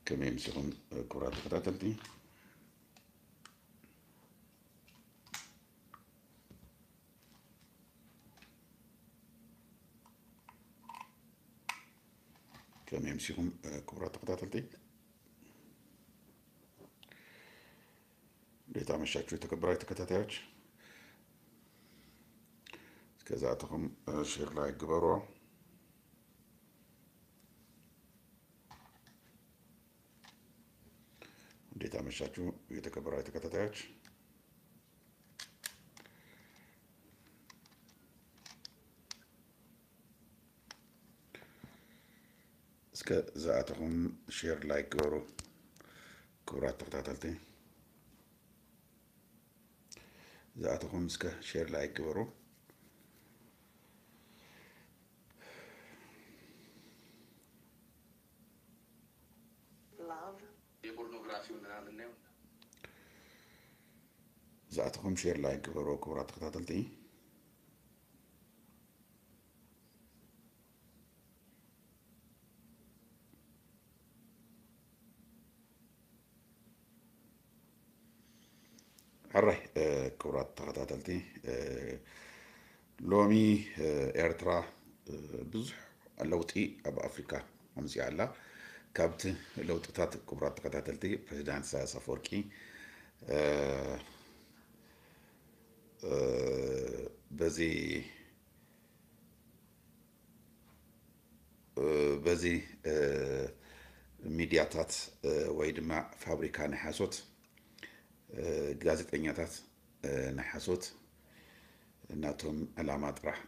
ከመይ ኣምሲኹም ክቡራት ተኸታተልቲ? ከመይ ኣምሲኹም ክቡራት ተኸታተልቲ? እንዴት አመሻችሁ የተከበራችሁ ተከታታዮች? እስከ ዛተኹም ሼር ላይክ ግበሩ። እንዴት አመሻችሁ የተከበራችሁ ተከታታዮች? እስከ ዝኣተኹም ሼር ላይክ ግበሩ ክቡራት ተኸታተልቲ። ዝኣተኹም እስከ ሼር ላይክ ግበሩ። Love. የፖርኖግራፊው ምናምን ነው። ዝኣተኹም ሼር ላይክ ግበሩ ክቡራት ተኸታተልቲ። ሕራይ ክቡራት ተኸታተልቲ፣ ሎሚ ኤርትራ ብዙሕ ለውጢ ኣብ ኣፍሪካ ኣምፅኣ ኣላ። ካብቲ ለውጥታት ክቡራት ተኸታተልቲ፣ ፕሬዚዳንት ኢሳያስ ኣፈወርቂ በዚ በዚ ሚድያታት ወይ ድማ ፋብሪካ ናይ ሓሶት ጋዜጠኛታት ናይ ሓሶት ናቶም ዕላማ ጥራሕ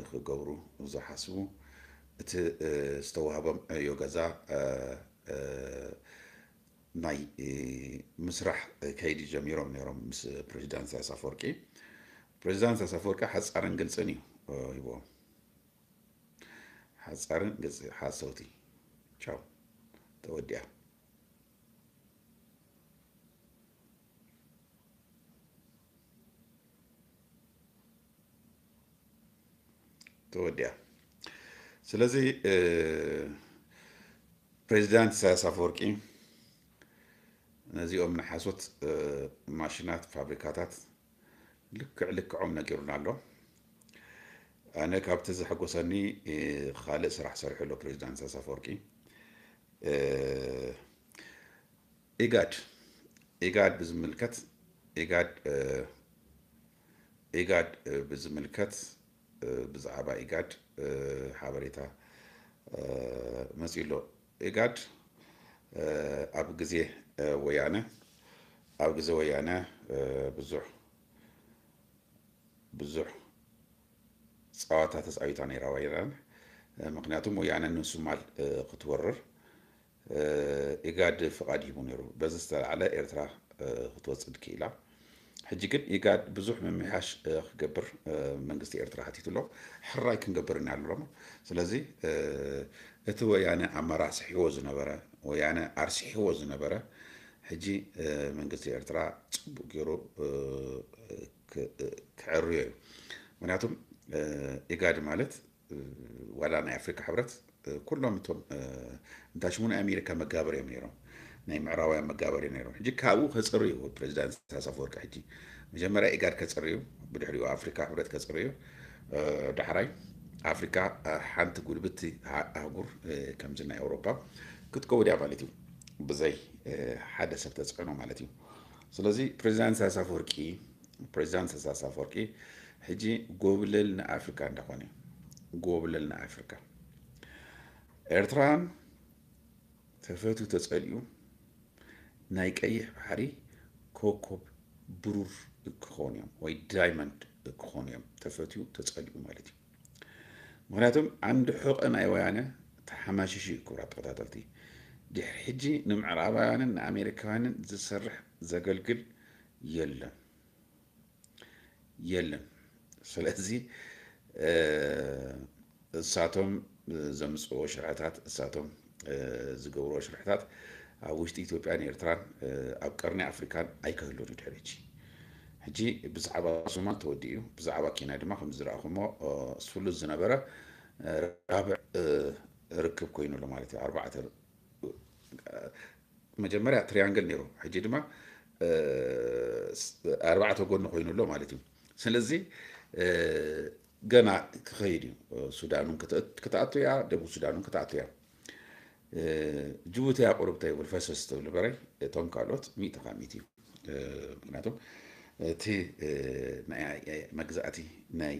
ክገብሩ ዝሓስቡ፣ እቲ ዝተዋህቦም ዕዮ ገዛ ናይ ምስራሕ ከይዲ ጀሚሮም ነይሮም ምስ ፕሬዚዳንት ኢሳያስ ኣፈወርቂ። ፕሬዚዳንት ኢሳያስ ኣፈወርቂ ሓፃርን ግልፅን እዩ ሂቦም። ሓፃርን ግልፂ ሓሰውቲ። ቻው። ተወዲኣ። ተወዲኣ። ስለዚ ፕሬዚዳንት ኢሳያስ ኣፈወርቂ ነዚኦም ናይ ሓሶት ማሽናት፣ ፋብሪካታት ልክዕ ልክዖም ነጊሩና ኣሎ። ኣነ ካብቲ ዘሐጎሰኒ ካልእ ስራሕ ሰሪሑ ኣሎ ፕሬዚዳንት ኢሳያስ ኣፈወርቂ። ኢጋድ ኢጋድ ብዝምልከት ኢጋድ ኢጋድ ብዝምልከት ብዛዕባ ኢጋድ ሓበሬታ መፂኡ ኣሎ። ኢጋድ ኣብ ግዜ ወያነ ኣብ ግዜ ወያነ ብዙሕ ብዙሕ ፀዋታ ተፃዊታ ነይራ ወያነ። ምክንያቱም ወያነ ንሱማል ክትወርር ኢጋድ ፍቓድ ሂቡ ነይሩ። በዚ ዝተላዕለ ኤርትራ ክትወፅእ ክኢላ። ሕጂ ግን ኢጋድ ብዙሕ ምምሕያሽ ክገብር መንግስቲ ኤርትራ ሓቲቱ ኣሎ። ሕራይ ክንገብር ኢና ኣሎ። ስለዚ እቲ ወያነ ኣመራስሒዎ ዝነበረ፣ ወያነ ኣርሲሒዎ ዝነበረ፣ ሕጂ መንግስቲ ኤርትራ ፅቡቅ ገይሩ ክዕርዮ እዩ። ምክንያቱም ኢጋድ ማለት ዋላ ናይ ኣፍሪካ ሕብረት ኩሎም እቶም እንታይ ሽሙ ናይ ኣሜሪካ መጋበር እዮም ነይሮም፣ ናይ ምዕራባውያን መጋበር እዮም ነይሮም። ሕጂ ካብኡ ከፅሪ እዩ ፕሬዚዳንት ኢሳያስ ኣፈወርቂ። ሕጂ መጀመርያ ኢጋድ ከፅሪ እዩ፣ ብድሕሪኡ ኣፍሪካ ሕብረት ከፅሪ እዩ። ዳሕራይ ኣፍሪካ ሓንቲ ጉልብቲ ኣህጉር ከምዚ ናይ ኣውሮፓ ክትከውን እያ ማለት እዩ፣ ብዘይ ሓደ ሰብ ተፅዕኖ ማለት እዩ። ስለዚ ፕሬዚዳንት ኢሳያስ ኣፈወርቂ ፕሬዚዳንት ኢሳያስ ኣፈወርቂ ሕጂ ጎብለል ንኣፍሪካ እንዳኾነ እዩ። ጎብለል ንኣፍሪካ። ኤርትራን ተፈትዩ ተፀሊኡ ናይ ቀይሕ ባሕሪ ኮኮብ ብሩር ክኾኑ እዮም ወይ ዳይመንድ ክኾኑ እዮም። ተፈትዩ ተፀሊኡ ማለት እዩ። ምክንያቱም ዓንዲ ሑቐ ናይ ወያነ ተሓማሽሹ እዩ። ክቡራት ተኸታተልቲ፣ ድሕሪ ሕጂ ንምዕራባውያንን ንኣሜሪካውያንን ዝሰርሕ ዘገልግል የለን የለን። ስለዚ እሳቶም ዘምፅዎ ሽርሕታት፣ እሳቶም ዝገብርዎ ሽርሕታት ኣብ ውሽጢ ኢትዮጵያን ኤርትራን ኣብ ቀርኒ ኣፍሪካን ኣይክህሉን እዩ ድሕሪ ሕጂ። ሕጂ ብዛዕባ ሶማል ተወዲኡ እዩ። ብዛዕባ ኬንያ ድማ ከም ዝረኣኹሞ ስሉስ ዝነበረ ራብዕ ርክብ ኮይኑ ኣሎ ማለት እዩ። ኣርባዕተ መጀመርያ ትሪያንግል ነይሩ፣ ሕጂ ድማ ኣርባዕተ ጎኒ ኮይኑ ኣሎ ማለት እዩ። ስለዚ ገና ክኸይድ እዩ። ሱዳን እውን ክትኣቱ እያ፣ ደቡብ ሱዳን እውን ክትኣቱ እያ። ጅቡቲ እያ ቁሩብ ተይብል ፈሰስ ትብል በረይ፣ እቶም ካልኦት ሚእቲ ካብ ሚእቲ እዩ። ምክንያቱም እቲ ናይ መግዛእቲ ናይ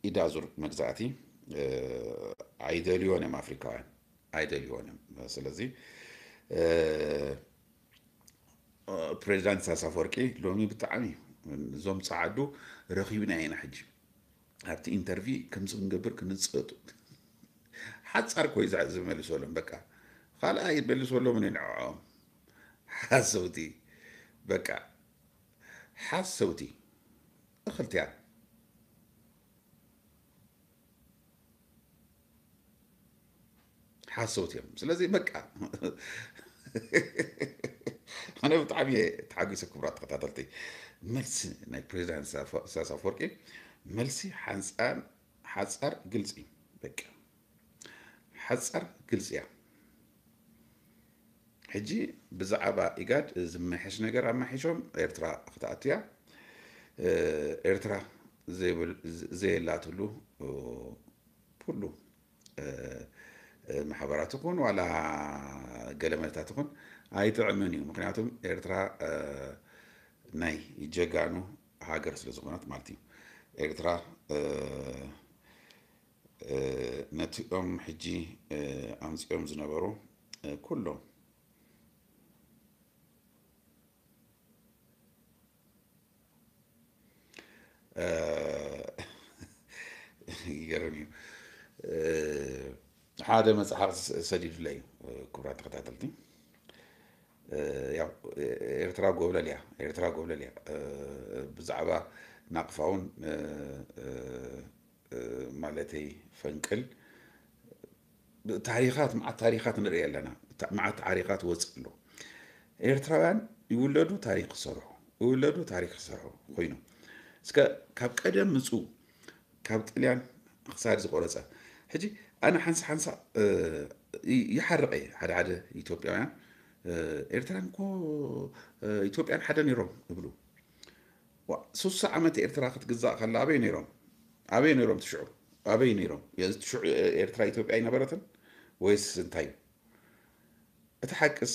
ኢዳዙር መግዛእቲ ኣይደልዮን እዮም ኣፍሪካውያን። ኣይደልዮን እዮም። ስለዚ ፕሬዚዳንት ኢሳያስ ኣፈወርቂ ሎሚ ብጣዕሚ እዞም ጸዓዱ ረኺብና ኢና ሕጂ ኣብቲ ኢንተርቪ ከምዚ ክንገብር ክንጸጡ ሓጻር ኮይ ዝመልሰሎም በቃ ካልኣ ይመልሰሎም ንዕኦም ሓሰውቲ በቃ ሓሰውቲ እኽልትያ ሓሰውት እዮም። ስለዚ በቃ ኣነ ብጣዕሚ እየ ተሓጒሰ ክቡራት ተኸታተልቲ። መልሲ ናይ ፕሬዚዳንት ኢሳያስ ኣፈወርቂ መልሲ ሓንፃን ሓፃር ግልፂ በቃ ሓፃር ግልፂ እያ። ሕጂ ብዛዕባ ኢጋድ ዝመሐሽ ነገር ኣማሒሾም ኤርትራ ክትኣቱ እያ። ኤርትራ ዘየላትሉ ኩሉ ማሕበራት ይኹን ዋላ ገለመለታት ይኹን ኣይጥዕምን እዩ። ምክንያቱም ኤርትራ ናይ ጀጋኑ ሃገር ስለ ዝኾነት ማለት እዩ። ኤርትራ ነቲኦም ሕጂ ኣምፂኦም ዝነበሩ ኩሎም ይገርም እዩ። ሓደ መፅሓፍ ሰዲዱለይ ክቡራት ተኸታተልቲ ያው ኤርትራ ጎብለል እያ ኤርትራ ጎብለል እያ ብዛዕባ ናቕፋውን ማለተይ ፈንቅል ታሪኻት መዓት ታሪኻት ንርኢ ኣለና። መዓት ታሪኻት ወፅእ ኣሎ። ኤርትራውያን ይውለዱ ታሪክ ክሰርሑ ይውለዱ ታሪክ ክሰርሑ ኮይኑ እስከ ካብ ቀደም ምፁ ካብ ጥልያን ክሳድ ዝቆረፀ ሕጂ ኣነ ሓንሳ ሓንሳ ይሓርቀ ሓደ ሓደ ኢትዮጵያውያን ኤርትራን እኮ ኢትዮጵያን ሓደ ነይሮም እብሉ ሱሳ ዓመት ኤርትራ ክትግዛእ ከላ ኣበይ ነይሮም ኣበይ ነይሮም ትሽዑ ኣበይ ነይሮም ትሽዑ ኤርትራ ኢትዮጵያ ኣይነበረትን ወይስ እንታይ እቲ ሓቅስ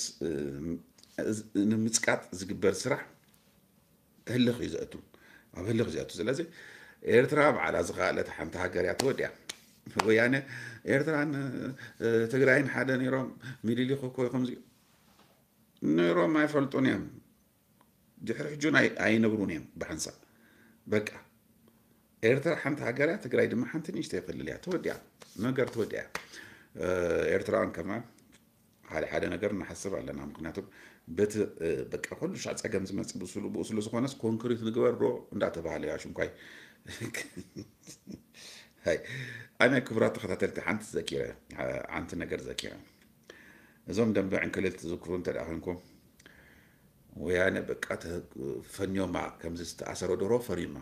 ንምፅቃጥ ዝግበር ስራሕ ህልኽ እዩ ዘእቱ ኣብ ህልኽ ዘእቱ ስለዚ ኤርትራ በዓላ ዝኸኣለት ሓንቲ ሃገር እያ ተወዲያ ወያነ ኤርትራን ትግራይን ሓደ ነይሮም ሚሊሊክ እኮ ከምዚ ነይሮም ኣይፈልጡን እዮም ድሕሪ ሕጁን ኣይነብሩን እዮም ብሓንሳብ በቃ ኤርትራ ሓንቲ ሃገር እያ ትግራይ ድማ ሓንቲ ንእሽተይ ክልል እያ ተወዲያ ነገር ተወዲያ ኤርትራውያን ከማን ሓደ ሓደ ነገር ንሓስብ ኣለና ምክንያቱም በቲ በቃ ኩሉ ሻዕ ፀገም ዝመፅእ ብስሉ ብኡ ስሉ ዝኾነስ ኮንክሪት ንግበር ዶ እንዳተባሃለ ያ ሽንኳይ ኣነ ክቡራት ተኸታተልቲ ሓንቲ ዘኪረ ሓንቲ ነገር ዘኪረ እዞም ደንበ ዕንክልል ትዝክሩ እንተ ደኣ ኮንኩም ወያነ በቃ ፈንዮማ ከምዚ ዝተኣሰረ ደሮ ፈርዩማ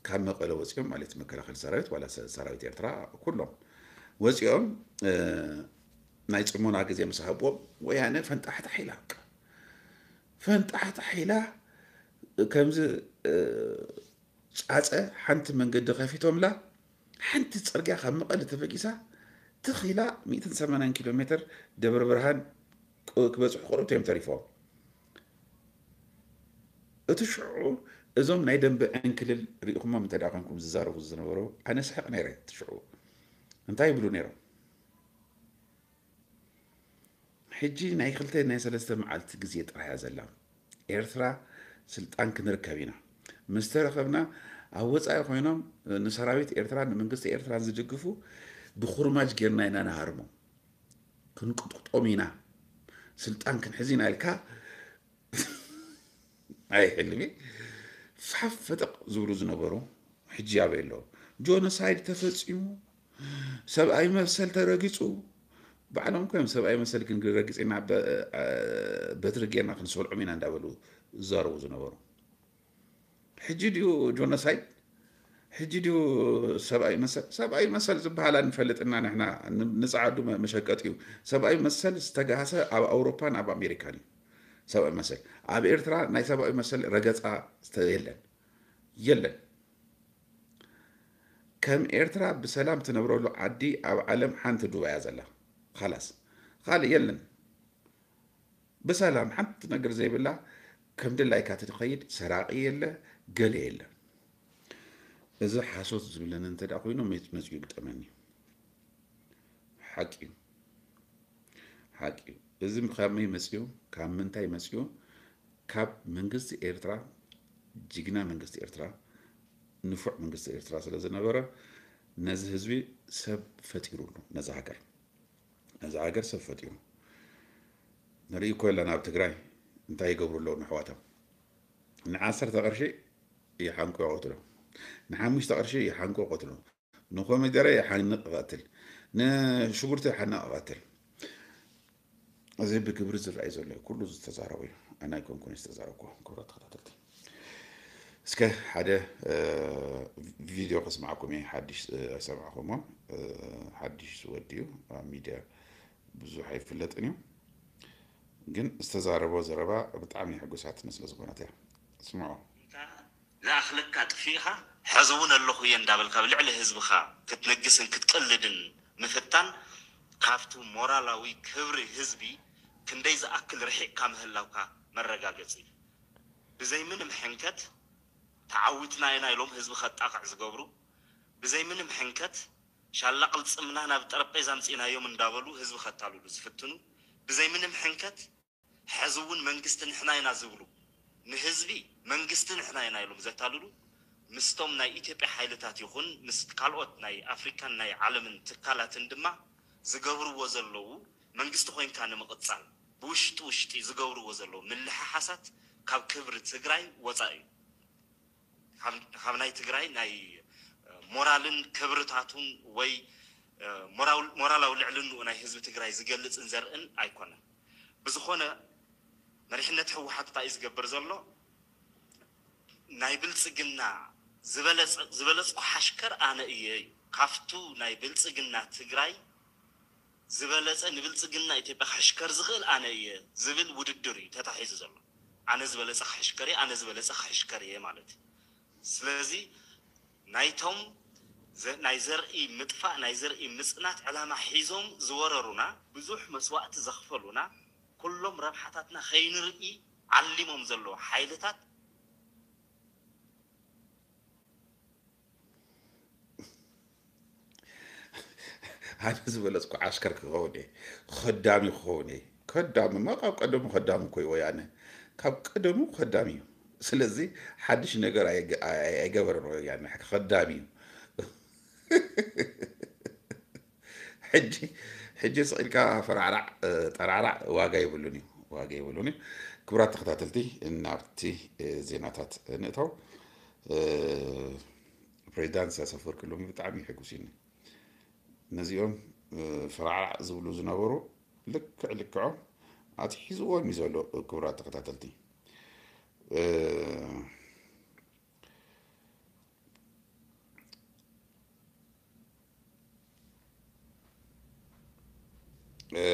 ካብ መቐለ ወፂኦም ማለት መከላኸሊ ሰራዊት ዋላ ሰራዊት ኤርትራ ኩሎም ወፂኦም ናይ ፅሞና ግዜ ምስ ሃብዎም ወያነ ፈንጣሕጣሕ ኢላ ፈንጣሕጣሕ ኢላ ከምዚ ፃፀ ሓንቲ መንገዲ ከፊቶምላ ሓንቲ ፅርግያ ካብ መቐለ ተበጊሳ ትኺላ ሚእትን ሰማንያን ኪሎ ሜትር ደብረ ብርሃን ክበፅሑ ቁሩብ እዮም ተሪፎም። እቲ ሽዑ እዞም ናይ ደንበ ዕንክልል ሪኢኹሞም እንተ ደኣ ኮንኩም ዝዛረቡ ዝነበሩ ኣነ ስሕቕ ነይረ እቲ ሽዑ እንታይ ይብሉ ነይሮም ሕጂ ናይ ክልተ ናይ ሰለስተ መዓልቲ ግዜ ጥራሕ እያ ዘላ ኤርትራ ስልጣን ክንርከብ ኢና ምስ ተረኸብና ኣብ ወፃኢ ኮይኖም ንሰራዊት ኤርትራን ንመንግስቲ ኤርትራን ዝድግፉ ብኩርማጅ ጌርና ኢና ንሃርሞም ክንቅጥቅጦም ኢና ስልጣን ክንሕዝ ኢና ኢልካ ኣይ ሕልሚ ፋፍ ፈጠቕ ዝብሉ ዝነበሩ ሕጂ ኣበይ ኣለዉ ጆኖሳይድ ተፈፂሙ ሰብኣዊ መሰል ተረጊፁ ባዕሎም እኮ እዮም ሰብኣዊ መሰል ክንረግፅ ኢና በትሪ ጌርና ክንሰልዖም ኢና እንዳበሉ ዝዛረቡ ዝነበሩ ሕጂ ድዩ ጆኖሳይድ ሕጂ ድዩ ሰብኣዊ መሰል? ሰብኣዊ መሰል ዝበሃል ኣይንፈልጥና ንሕና፣ ን-፣ ንጸዓዱ መ-፣ መሸቀጢ እዩ። ሰብኣዊ መሰል ዝተጋህሰ ኣብ ኣውሮፓን ኣብ ኣሜሪካን እዩ። ሰብኣዊ መሰል። ኣብ ኤርትራ ናይ ሰብኣዊ መሰል ረገጻ ስተ-፣ የለን። የለን። ከም ኤርትራ ብሰላም ትነብረሉ ዓዲ ኣብ ዓለም ሓንቲ ዱባይ እያ ዘላ። ኻላስ። ካልእ የለን። ብሰላም ሓንቲ ነገር ዘይብላ፣ ከም ድላይካ ትኸይድ፣ ሰራቒ የለ፣ ገለ የለ። እዚ ሓሶት ዝብለኒ እንተ ደኣ ኮይኑ፣ መጽ-፣ መጽኡ ይግጠመኒ። ሓቂ እዩ። ሓቂ እዩ። እዚ ከመይ መጽኡ? ካብ ምንታይ መጽኡ? ካብ መንግስቲ ኤርትራ፣ ጅግና መንግስቲ ኤርትራ፣ ንፉዕ መንግስቲ ኤርትራ ስለ ዝነበረ፣ ነዚ ህዝቢ ሰብ ፈጢሩሉ፣ ነዛ ሃገር። ነዛ ሃገር ሰብ ፈጢሩ። ንርኢ እኮ ኣለና ኣብ ትግራይ እንታይ ይገብሩ ኣለዉ ንኣሕዋቶም። ንዓሰርተ ቅርሺ ይሓንቁ ይቐትሉ። ንሓሙሽተ ቅርሺ ይሓንቁ ይቐትሉ። ንኮሚደረ ይሓንቕ ይቐትል። ንሽጉርቲ ይሓንቕ ይቐትል። እዚ ብግብሪ ዝረኣይ ዘሎ እዩ። ኩሉ ዝተዛረቡ እዩ። ኣነ ኣይኮንኩን ዝተዛረብኩ። ክቡራት ተኸታተልቲ፣ እስከ ሓደ፣ እ፣ ቪድዮ ከስማዕኩም እየ። ሓድሽ፣ እ፣ ኣይሰማዕኩሞ። እ፣ ሓድሽ ዝወዲ እዩ። ኣብ ሚድያ ብዙሕ ኣይፍለጥን እዩ። ግን ዝተዛረቦ ዘረባ ብጣዕሚ ሕጉሳትኒ ስለ ዝኾነት እያ። ስምዖ። ዝኣኽለካ ጥፊእኻ፣ ሕዚ እውን ኣለኹ እየ እንዳበልካ ብልዕሊ ህዝብኻ ክትንግስን ክትቅልድን ምፍታን፣ ካብቲ ሞራላዊ ክብሪ ህዝቢ ክንደይ ዝኣክል ርሒቕካ ምህላውካ መረጋገጺ እዩ። ብዘይ ምንም ሕንከት፣ ተዓዊትና ኢና ኢሎም ህዝቢ ከጣቕዕ ዝገብሩ፣ ብዘይ ምንም ሕንከት፣ ሻላ ቅልጽምና ናብ ጠረጴዛ ኣምጺእናዮም እንዳበሉ ህዝቢ ከታልሉ ዝፍትኑ፣ ብዘይ ምንም ሕንከት፣ ሕዚ እውን መንግስቲ ንሕና ኢና ዝብሉ፣ ንህዝቢ መንግስቲ ንሕና ኢና ኢሎም ዘታልሉ፣ ምስቶም ናይ ኢትዮጵያ ሓይልታት ይኹን ምስ ካልኦት ናይ ኣፍሪካን ናይ ዓለምን ትካላትን ድማ ዝገብርዎ ዘለዉ፣ መንግስቲ ኮይንካ ንምቕጻል ብውሽጢ ውሽጢ ዝገብርዎ ዘለዉ ምልሕሓሳት ካብ ክብሪ ትግራይ ወጻኢ እዩ። ካብ፣ ካብ ናይ ትግራይ ናይ፣ እ፣ ሞራልን ክብርታቱን ወይ፣ እ፣ ሞራል-፣ ሞራላዊ ልዕልንኡ ናይ ህዝቢ ትግራይ ዝገልጽን ዘርእን ኣይኮነን። ብዝኾነ፣ መሪሕነት ህወሓት እንታይ እዩ ዝገብር ዘሎ? ናይ ብልጽግና ዝበለጸ-፣ ዝበለጽኩ ሓሽከር ኣነ እየ እዩ። ካብቱ ናይ ብልጽግና ትግራይ ዝበለጸ ንብልጽግና ኢትዮጵያ ክሕሽከር ዝኽእል ኣነ እየ ዝብል ውድድር እዩ ተታሒዙ ዘሎ። ኣነ ዝበለጸ ክሕሽከር እየ፣ ኣነ ዝበለጸ ክሕሽከር እየ ማለት እዩ። ስለዚ ናይቶም ዘ-፣ ናይ ዘርኢ ምጥፋእ፣ ናይ ዘርኢ ምጽናት ዕላማ ሒዞም ዝወረሩና፣ ብዙሕ መስዋእቲ ዘኽፈሉና፣ ኩሎም ረብሓታትና ከይንርኢ ዓሊሞም ዘለዉ ሓይልታት፣ ኣነ ዝበለጽኩ ዓስከር ክኸውን እየ፣ ኸዳሚ ክኸውን እየ። ከዳሚ፣ ማ ካብ ቀደሙ ኸዳሚ እኮ እዩ ወያነ። ካብ ቀደሙ ኸዳሚ እዩ። ስለዚ ሓድሽ ነገር ኣይገ-፣ ኣይ-፣ ኣይገበረን ወያነ፣ ኸዳሚ እዩ። ሕጂ፣ ሕጂ ስቕ ኢልካ ፈራዕራዕ፣ እ፣ ጠራዕራዕ ዋጋ የብሉን እዩ፣ ዋጋ የብሉን እዩ። ክቡራት ተኸታተልቲ፣ ናብቲ፣ እ፣ ዜናታት ንእተው። እ፣ ፕሬዚዳንት ኢሳያስ ኣፈወርቂ ሎሚ ብጣዕሚ እዩ ሕጉሲኒ። ነዚኦም፣ እ፣ ፈራዕራዕ ዝብሉ ዝነበሩ ልክዕ ልክዖም ኣትሒዝዎም እዩ ዘሎ፣ ክቡራት ተኸታተልቲ። እ፣ እ፣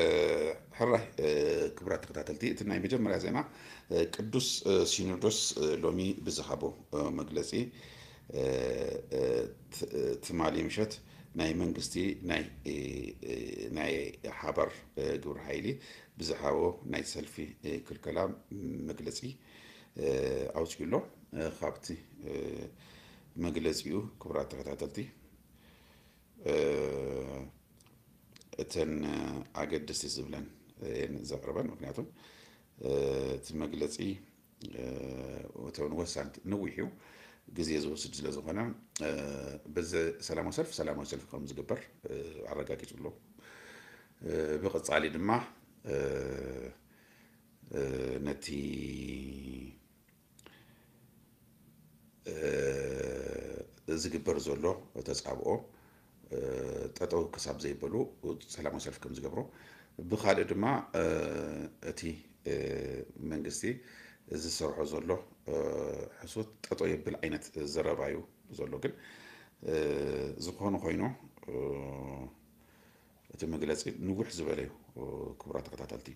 ሕራይ፣ እ፣ ክቡራት ተኸታተልቲ፣ እቲ ናይ መጀመርያ ዜና፣ እ፣ ቅዱስ፣ እ፣ ሲኖዶስ፣ እ፣ ሎሚ ብዝሃቦ፣ እ፣ መግለጺ፣ እ፣ እ፣ ት-፣ እ፣ ትማሊ ምሸት ናይ መንግስቲ ናይ፣ እ፣ እ፣ ናይ ሓባር፣ እ፣ ግብረ ሓይሊ ብዝሃቦ ናይ ሰልፊ፣ እ፣ ክልከላ መግለጺ፣ እ፣ ኣውጺኡ ኣሎ። እ፣ ካብቲ፣ እ፣ መግለጺኡ ክቡራት ተኸታተልቲ፣ እ፣ እተን ኣገደስቲ ዝብለን እየን ዘቕርበን። ምክንያቱ፣ እ፣ እቲ መግለጺ፣ እ፣ እተን ወሳንቲ ነዊሕ እዩ፣ ግዜ ዝወስድ ስለ ዝኾነ፣ እ፣ በዚ ሰላማዊ ሰልፊ፣ ሰላማዊ ሰልፊ ከም ዝግበር፣ እ፣ ኣረጋጊጹ ኣሎ። እ፣ ብቐጻሊ ድማ፣ እ፣ እ፣ ነቲ እ፣ ዝግበር ዘሎ ተጻብኦ፣ እ፣ ጠጠው ክሳብ ዘይበሉ ሰላማዊ ሰልፊ ከም ዝገብሩ፣ ብኻልእ ድማ፣ እ፣ እቲ፣ እ፣ መንግስቲ ዝሰርሖ ዘሎ፣ እ፣ ሕሶት ጠጠው የብል ዓይነት ዘረባ እዩ ዘሎ። ግን ዝኾነ ኮይኑ እቲ መግለፂ ንውሕ ዝበለ እዩ። ክቡራት ተኸታተልቲ፣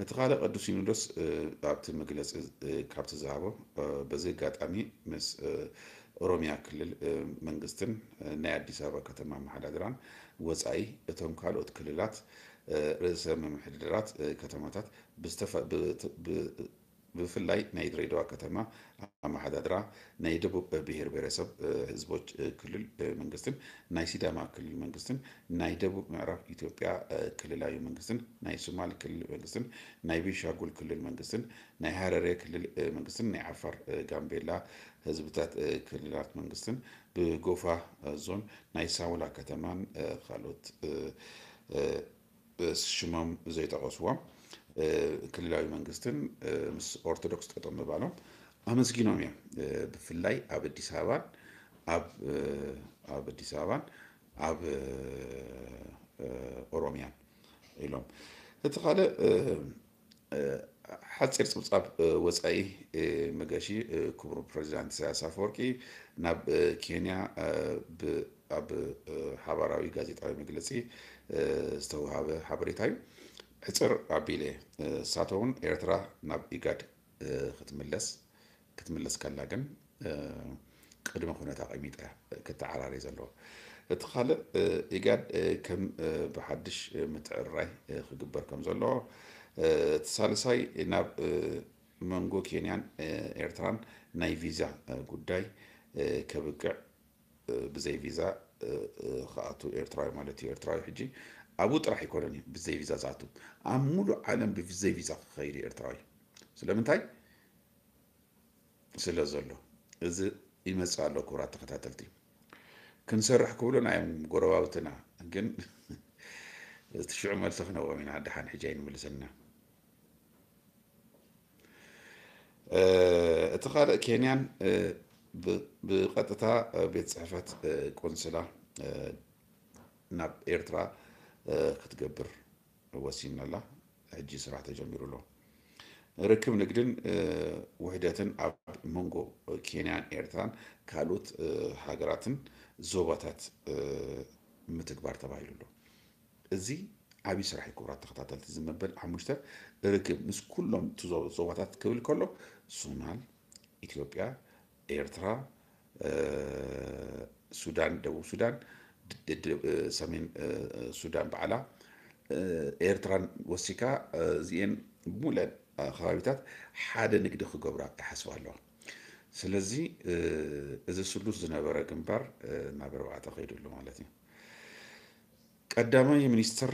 እቲ ካልእ ቅዱስ ሲኖዶስ ኣብቲ መግለፂ ካብቲ ዝሃቦ፣ በዚ ኣጋጣሚ ምስ ኦሮሚያ ክልል መንግስትን ናይ ኣዲስ ኣበባ ከተማ ኣመሓዳድራን ወፃኢ እቶም ካልኦት ክልላት ርእሰ ምምሕዳራት ከተማታት ብዝተፈ- ብ- ብ- ብፍላይ ናይ ድሬዳዋ ከተማ ኣመሓዳድራ፣ ናይ ደቡብ ብሄር ብሄረሰብ ህዝቦች ክልል መንግስትን ናይ ሲዳማ ክልል መንግስትን ናይ ደቡብ ምዕራብ ኢትዮጵያ ክልላዊ መንግስትን ናይ ሶማል ክልል መንግስትን ናይ ቤንሻንጉል ክልል መንግስትን ናይ ሃረሬ ክልል መንግስትን ናይ ዓፋር ጋምቤላ ህዝብታት ክልላት መንግስትን ብጎፋ ዞን ናይ ሳውላ ከተማን ካልኦት ሽሞም ዘይጠቐስዎም ክልላዊ መንግስትን ምስ ኦርቶዶክስ ጠጠው ምባሎም ኣመስጊኖም እዮም። ብፍላይ ኣብ ኣዲስ ኣበባን ኣብ ኣብ ኣዲስ ኣበባን ኣብ ኦሮሚያን ኢሎም። እቲ ካልእ ሓፂር ፀብፃብ ወፃኢ መገሺ ክቡር ፕሬዚዳንት ኢሳያስ ኣፈወርቂ ናብ ኬንያ ኣብ ሓባራዊ ጋዜጣዊ መግለፂ ዝተውሃበ ሓበሬታ እዩ። ሕፅር ኣቢለ እሳቶ እውን ኤርትራ ናብ ኢጋድ ክትምለስ ክትምለስ ከላ ግን ቅድመ ኩነት ኣቐሚጣ ክትዓራረይ ዘለዎ። እቲ ካልእ ኢጋድ ከም ብሓድሽ ምትዕርራይ ክግበር ከም ዘለዎ፣ እቲ ሳልሳይ ናብ መንጎ ኬንያን ኤርትራን ናይ ቪዛ ጉዳይ ከብቅዕ ብዘይ ቪዛ ክኣቱ ኤርትራዊ ማለት እዩ። ኤርትራዊ ሕጂ ኣብኡ ጥራሕ ኣይኮነን እዩ ብዘይ ቪዛ ዝኣቱ፣ ኣብ ሙሉእ ዓለም ብዘይ ቪዛ ክኸይድ እዩ ኤርትራዊ። ስለምንታይ? ስለ ዘሎ። እዚ ይመጽእ ኣሎ። ክቡራት ተኸታተልቲ፣ ክንሰርሕ ክብሉና እዮም ጎረባብትና፣ ግን እቲ ሽዑ መልሲ ክነዎም ኢና። ደሓን ሕጂ ኣይንምልሰና። እቲ ካልእ ኬንያን ብቐጥታ ቤት ፅሕፈት ቆንስላ ናብ ኤርትራ ክትገብር ወሲና ኣላ። ሕጂ ስራሕ ተጀሚሩ ኣሎ። ርክብ ንግድን ውሕደትን ኣብ መንጎ ኬንያን ኤርትራን ካልኦት ሃገራትን ዞባታት ምትግባር ተባሂሉ ኣሎ። እዚ ዓብዪ ስራሕ እዩ። ክቡራት ተኸታተልቲ፣ እዚ መበል ሓሙሽተ ርክብ ምስ ኩሎም እቲ ዞ- ዞባታት ክብል ከሎ ሶማል፣ ኢትዮጵያ፣ ኤርትራ፣ ሱዳን፣ ደቡብ ሱዳን፣ ሰሜን ሱዳን ባዕላ፣ ኤርትራን ወሲካ፣ እዚኤን ሙለን ከባቢታት ሓደ ንግዲ ክገብራ ይሓስባ ኣለዋ። ስለዚ እዚ ስሉስ ዝነበረ ግንባር ናብ ኣርባዕተ ከይዱ ኣሎ ማለት እዩ። ቀዳማይ ሚኒስትር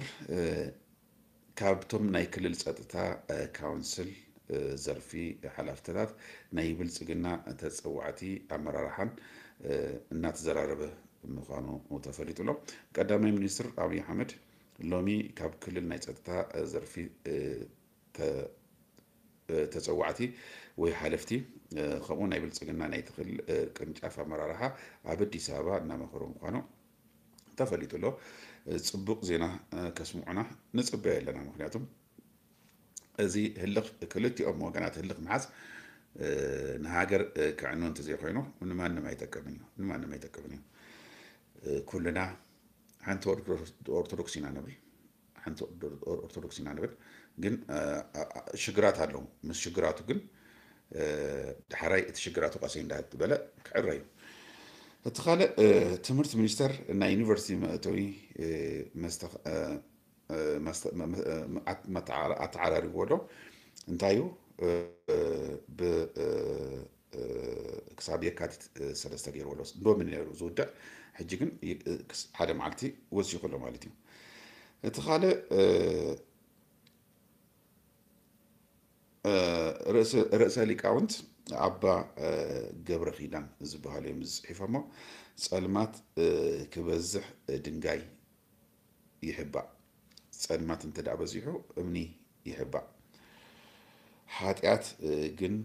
ካብቶም ናይ ክልል ጸጥታ ካውንስል ዘርፊ ሓላፍተታት ናይ ብልጽግና ተጸዋዕቲ ኣመራርሓን እናተዘራረበ ምዃኑ ተፈሊጡ ኣሎ። ቀዳማይ ሚኒስትር ኣብይ ኣሕመድ ሎሚ ካብ ክልል ናይ ጸጥታ ዘርፊ ተጸዋዕቲ ወይ ሓለፍቲ ከምኡ ናይ ብልጽግና ናይ ትኽል ቅርንጫፍ ኣመራርሓ ኣብ ኣዲስ ኣበባ እናመኸሩ ምዃኑ ተፈሊጡ ኣሎ። ጽቡቕ ዜና ከስምዑና ንጽበዮ ኣለና። ምክንያቱም እዚ ህልኽ ክልቲኦም ወገናት ህልኽ ምሓዝ ንሃገር ክዕኑ እንተዘይኮይኑ ንማንም ኣይጠቅምን እዩ፣ ንማንም ኣይጠቅምን እዩ። ኩልና ሓንቲ ኦርቶዶክስ ኢና ንብል፣ ሓንቲ ኦርቶዶክስ ኢና ንብል፣ ግን ሽግራት ኣለዉ። ምስ ሽግራቱ ግን ዳሕራይ እቲ ሽግራቱ ቀሰይ እንዳበለ ክዕረ እዩ። እቲ ካልእ ትምህርቲ ሚኒስተር ናይ ዩኒቨርሲቲ መእተዊ ኣተዓራሪብዎ ኣሎ። እንታይ እዩ? ክሳብ የካቲት ሰለስተ ገይርዎ ኣሎ። ሎሚ ነይሩ ዝውድዕ፣ ሕጂ ግን ሓደ መዓልቲ ወሲኹ ኣሎ ማለት እዩ። እቲ ካልእ ርእሰ ሊቃውንት ኣባ ገብረ ኪዳን ዝበሃሉ እዮም ዝፅሒፎሞ። ጸልማት ክበዝሕ ድንጋይ ይሕባእ። ጸልማት እንተ ደኣ በዚሑ እምኒ ይሕባእ። ሓጢኣት ግን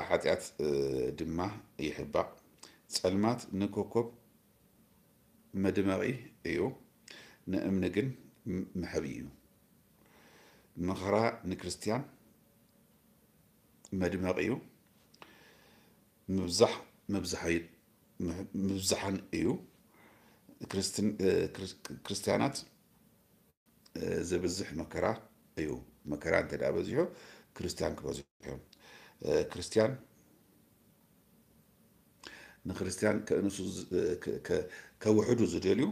ሓጢኣት ድማ ይሕባእ። ጸልማት ንኮኮብ መድመቒ እዩ፣ ንእምኒ ግን መሕብኢ እዩ። መኸራ ንክርስትያን መድመቒ እዩ፣ ምብዛሕ ምብዝሓይ-፣ ምብዝሓን እዩ። ክርስትን-፣ እ፣ ክርስ-፣ ክርስትያናት፣ እ፣ ዘብዝሕ መከራ እዩ። መከራ እንተ ደኣ በዚሑ፣ ክርስትያን ክበዝሑ እዮም። እ፣ ክርስትያን ንክርስትያን ከእንሱ ዝ-፣ ከ-፣ ከ-፣ ከውሕዱ ዝደልዩ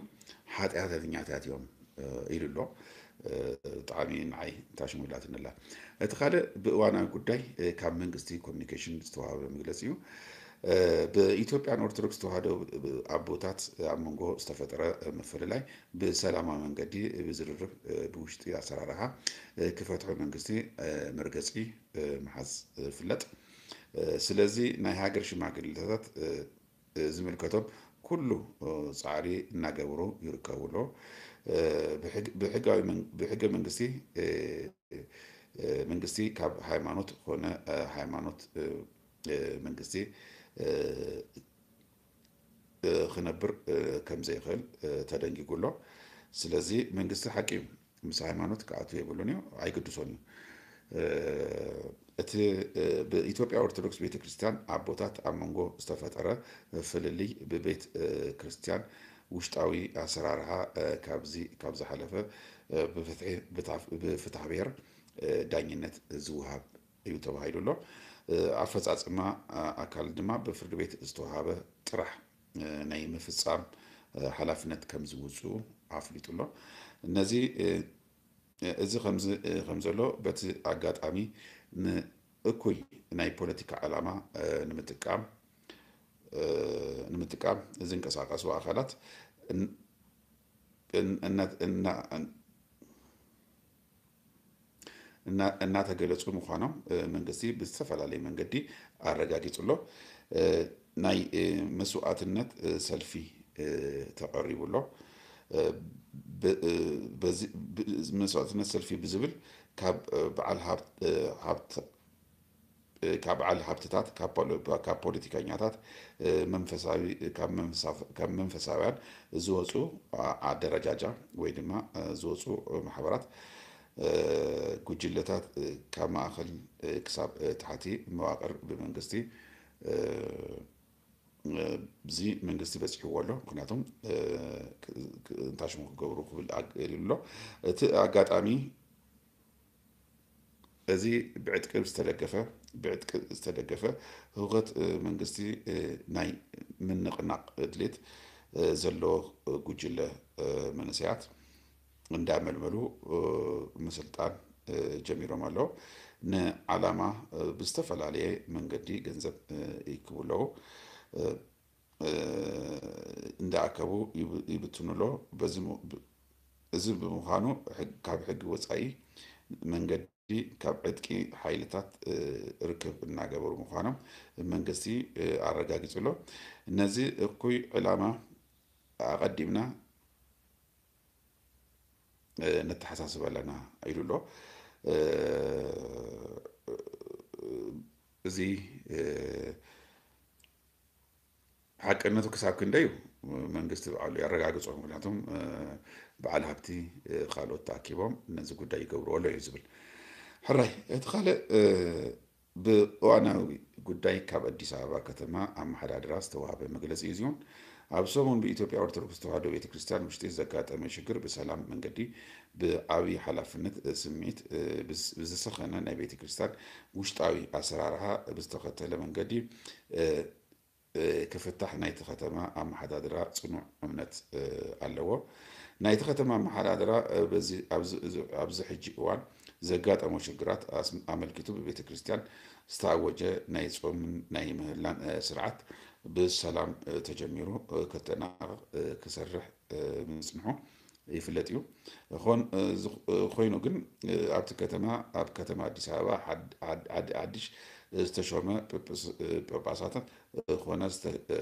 ሓጢኣተኛታት እዮም፣ እ፣ ኢሉ ኣሎ። እ፣ ብጣዕሚ ንዓይ ታሽሙ ኢላትኒ ኣላ። እቲ ካልእ ብእዋናዊ ጉዳይ፣ እ፣ ካብ መንግስቲ ኮሚኒኬሽን ዝተዋህበ መግለጺ እዩ። እ፣ ብኢትዮጵያን ኦርቶዶክስ ተዋህዶ ኣቦታት ኣብ መንጎ ዝተፈጠረ ምፍልላይ ብሰላማዊ መንገዲ ብዝርርብ፣ እ፣ ብውሽጢ ኣሰራርሓ፣ እ፣ ክፈትሑ መንግስቲ፣ እ፣ መርገጺ፣ እ፣ ምሓዝ ይፍለጥ። እ፣ ስለዚ ናይ ሃገር ሽማግሌታት፣ እ፣ እ፣ ዝምልከቶም ኩሉ፣ እ፣ ጻዕሪ እናገበሩ ይርከቡ ኣለዉ። እ፣ ብሕግ-፣ ብሕጋዊ መን-፣ ብሕገ መንግስቲ፣ እ፣ እ፣ መንግስቲ ካብ ሃይማኖት ኮነ፣ እ፣ ሃይማኖት፣ እ፣ እ፣ መንግስቲ፣ እ፣ እ፣ ክነብር፣ እ፣ ከም ዘይኽእል፣ እ፣ ተደንጊጉ ኣሎ። ስለዚ መንግስቲ ሓቂ እዩ፣ ምስ ሃይማኖት ክኣቱ የብሉን እዩ፣ ኣይግድሶን እዩ። እ፣ እቲ፣ እ፣ ብኢትዮጵያ ኦርቶዶክስ ቤተክርስትያን ኣቦታት ኣብ መንጎ ዝተፈጠረ ፍልልይ ብቤት፣ እ፣ ክርስትያን ውሽጣዊ ኣሰራርሓ፣ እ፣ ካብዚ፣ ካብ ዝሓለፈ፣ እ፣ ብፍትሒ፣ ብታፍ-፣ ብፍትሐ ብሔር፣ እ፣ ዳኝነት ዝወሃብ እዩ ተባሂሉ ኣሎ። እ፣ ኣፈጻጽማ፣ እ፣ ኣካል ድማ ብፍርዲ ቤት ዝተወሃበ ጥራሕ፣ እ፣ ናይ ምፍጻም፣ እ፣ ሓላፍነት ከም ዝውጽኡ ኣፍሊጡ ኣሎ። ነዚ፣ እ፣ እዚ ከምዚ፣ እ፣ ከም ዘሎ በቲ ኣጋጣሚ ንእኩይ ናይ ፖለቲካ ዕላማ፣ እ፣ ንምጥቃም፣ እ፣ ንምጥቃም ዝንቀሳቐሱ ኣካላት እን-፣ እን-፣ እና-፣ እና-፣ እና-፣ እናተገለጹ ምዃኖም፣ እ፣ መንግስቲ ብዝተፈላለየ መንገዲ ኣረጋጊጹ ኣሎ። እ፣ ናይ፣ እ፣ መስዋእትነት፣ እ፣ ሰልፊ፣ እ፣ ተቐሪቡ ኣሎ። እ፣ ብ-፣ እ፣ በዚ፣ ብ-፣ መስዋእትነት ሰልፊ ብዝብል ካብ፣ እ፣ በዓል ሃብት-፣ እ፣ ሃብት-፣ እ፣ ካብ በዓል ሃብትታት፣ ካብ ፖለ-፣ ካብ ፖለቲከኛታት፣ እ፣ መንፈሳዊ፣ ካብ መንፈሳ-፣ ካብ መንፈሳውያን ዝወፁ ኣ-፣ ኣደረጃጃ ወይ ድማ፣ እ፣ ዝወፁ ማሕበራት፣ እ፣ ጉጅለታት፣ እ፣ ካብ ማእኸል፣ እ፣ ክሳብ፣ እ፣ ታሕቲ መዋቕር ብመንግስቲ፣ እ፣ እ፣ እዚ መንግስቲ በፂሕዎ ኣሎ። ምክንያቱም፣ እ፣ ክ-፣ ክ-፣ እንታይ ሽሙ ክገብሩ ክብል ኣግ-፣ ኢሉ ኣሎ። እቲ ኣጋጣሚ እዚ ብዕጥቂ ዝተደገፈ፣ ብዕጥቂ ዝተደገፈ ህውከት፣ እ፣ መንግስቲ፣ እ፣ ናይ ምንቕናቕ ድሌት፣ እ፣ ዘለዎ ጉጅለ፣ እ፣ መንእሰያት እንዳመልመሉ፣ እ፣ ምስልጣን፣ እ፣ ጀሚሮም ኣለዉ። ንዓላማ፣ እ፣ ብዝተፈላለየ መንገዲ ገንዘብ፣ እ፣ ይእክቡ ኣለዉ። እ፣ እ፣ እንዳኣከቡ ይብ-፣ ይብትኑ ኣለዉ። በዚ ም-፣ ብ-፣ እዚ ብምዃኑ ሕግ-፣ ካብ ሕጊ ወጻኢ መንገዲ ካብ ዕጥቂ ሓይልታት፣ እ፣ ርክብ እናገበሩ ምዃኖም መንግስቲ፣ እ፣ ኣረጋጊጹ ኣሎ። ነዚ እኩይ ዕላማ ኣቐዲምና፣ እ፣ ነተሓሳስብ ኣለና ኢሉ ኣሎ። እ፣ እዚ፣ እ፣ ሓቅነቱ ክሳብ ክንደይ እዩ መንግስቲ ባዕሉ የረጋግጾ። ምክንያቱም፣ እ፣ በዓል ሃብቲ፣ እ፣ ካልኦት ተኣኪቦም ነዚ ጉዳይ ይገብርዎ ኣለዉ እዩ ዝብል። ሕራይ፣ እቲ ካልእ፣ እ፣ ብእዋናዊ ጉዳይ ካብ ኣዲስ ኣበባ ከተማ ኣመሓዳድራ ዝተዋህበ መግለጺ እዩ። እዚውን ኣብ ሰሙን ብኢትዮጵያ ኦርቶዶክስ ተዋህዶ ቤተ ክርስቲያን ውሽጢ ዘጋጠመ ሽግር ብሰላም መንገዲ ብዓብዪ ሓላፍነት፣ እ፣ ስምዒት፣ እ፣ ብዝ-፣ ብዝሰኸነ ናይ ቤተ ክርስቲያን ውሽጣዊ ኣሰራርሓ ብዝተኸተለ መንገዲ፣ እ፣ እ፣ ክፍታሕ ናይቲ ከተማ ኣመሓዳድራ ጽኑዕ እምነት፣ እ፣ ኣለዎ። ናይቲ ከተማ ኣመሓዳድራ፣ እ፣ በዚ፣ ኣብዚ፣ እዚ፣ ኣብዚ ሕጂ እዋን ዘጋጠሞ ሽግራት ኣስ-፣ ኣመልኪቱ ብቤተ ክርስቲያን ዝተኣወጀ ናይ ጾምን ናይ ምህላን፣ እ፣ ስርዓት ብሰላም፣ እ፣ ተጀሚሩ፣ እ፣ ከተናቕቕ፣ እ፣ ክሰርሕ፣ እ፣ ምጽንሑ ይፍለጥ እዩ። ኾን-፣ እ፣ ዝኾ-፣ እ፣ ኮይኑ ግን፣ እ፣ ኣብቲ ከተማ፣ ኣብ ከተማ ኣዲስ ኣበባ ሓድ-፣ ሓድ-፣ ዓዲ ሓድሽ ዝተሾመ ጳጳስ-፣ እ፣ ጳጳሳት፣ እ፣ ኾነ ዝተ-፣ እ፣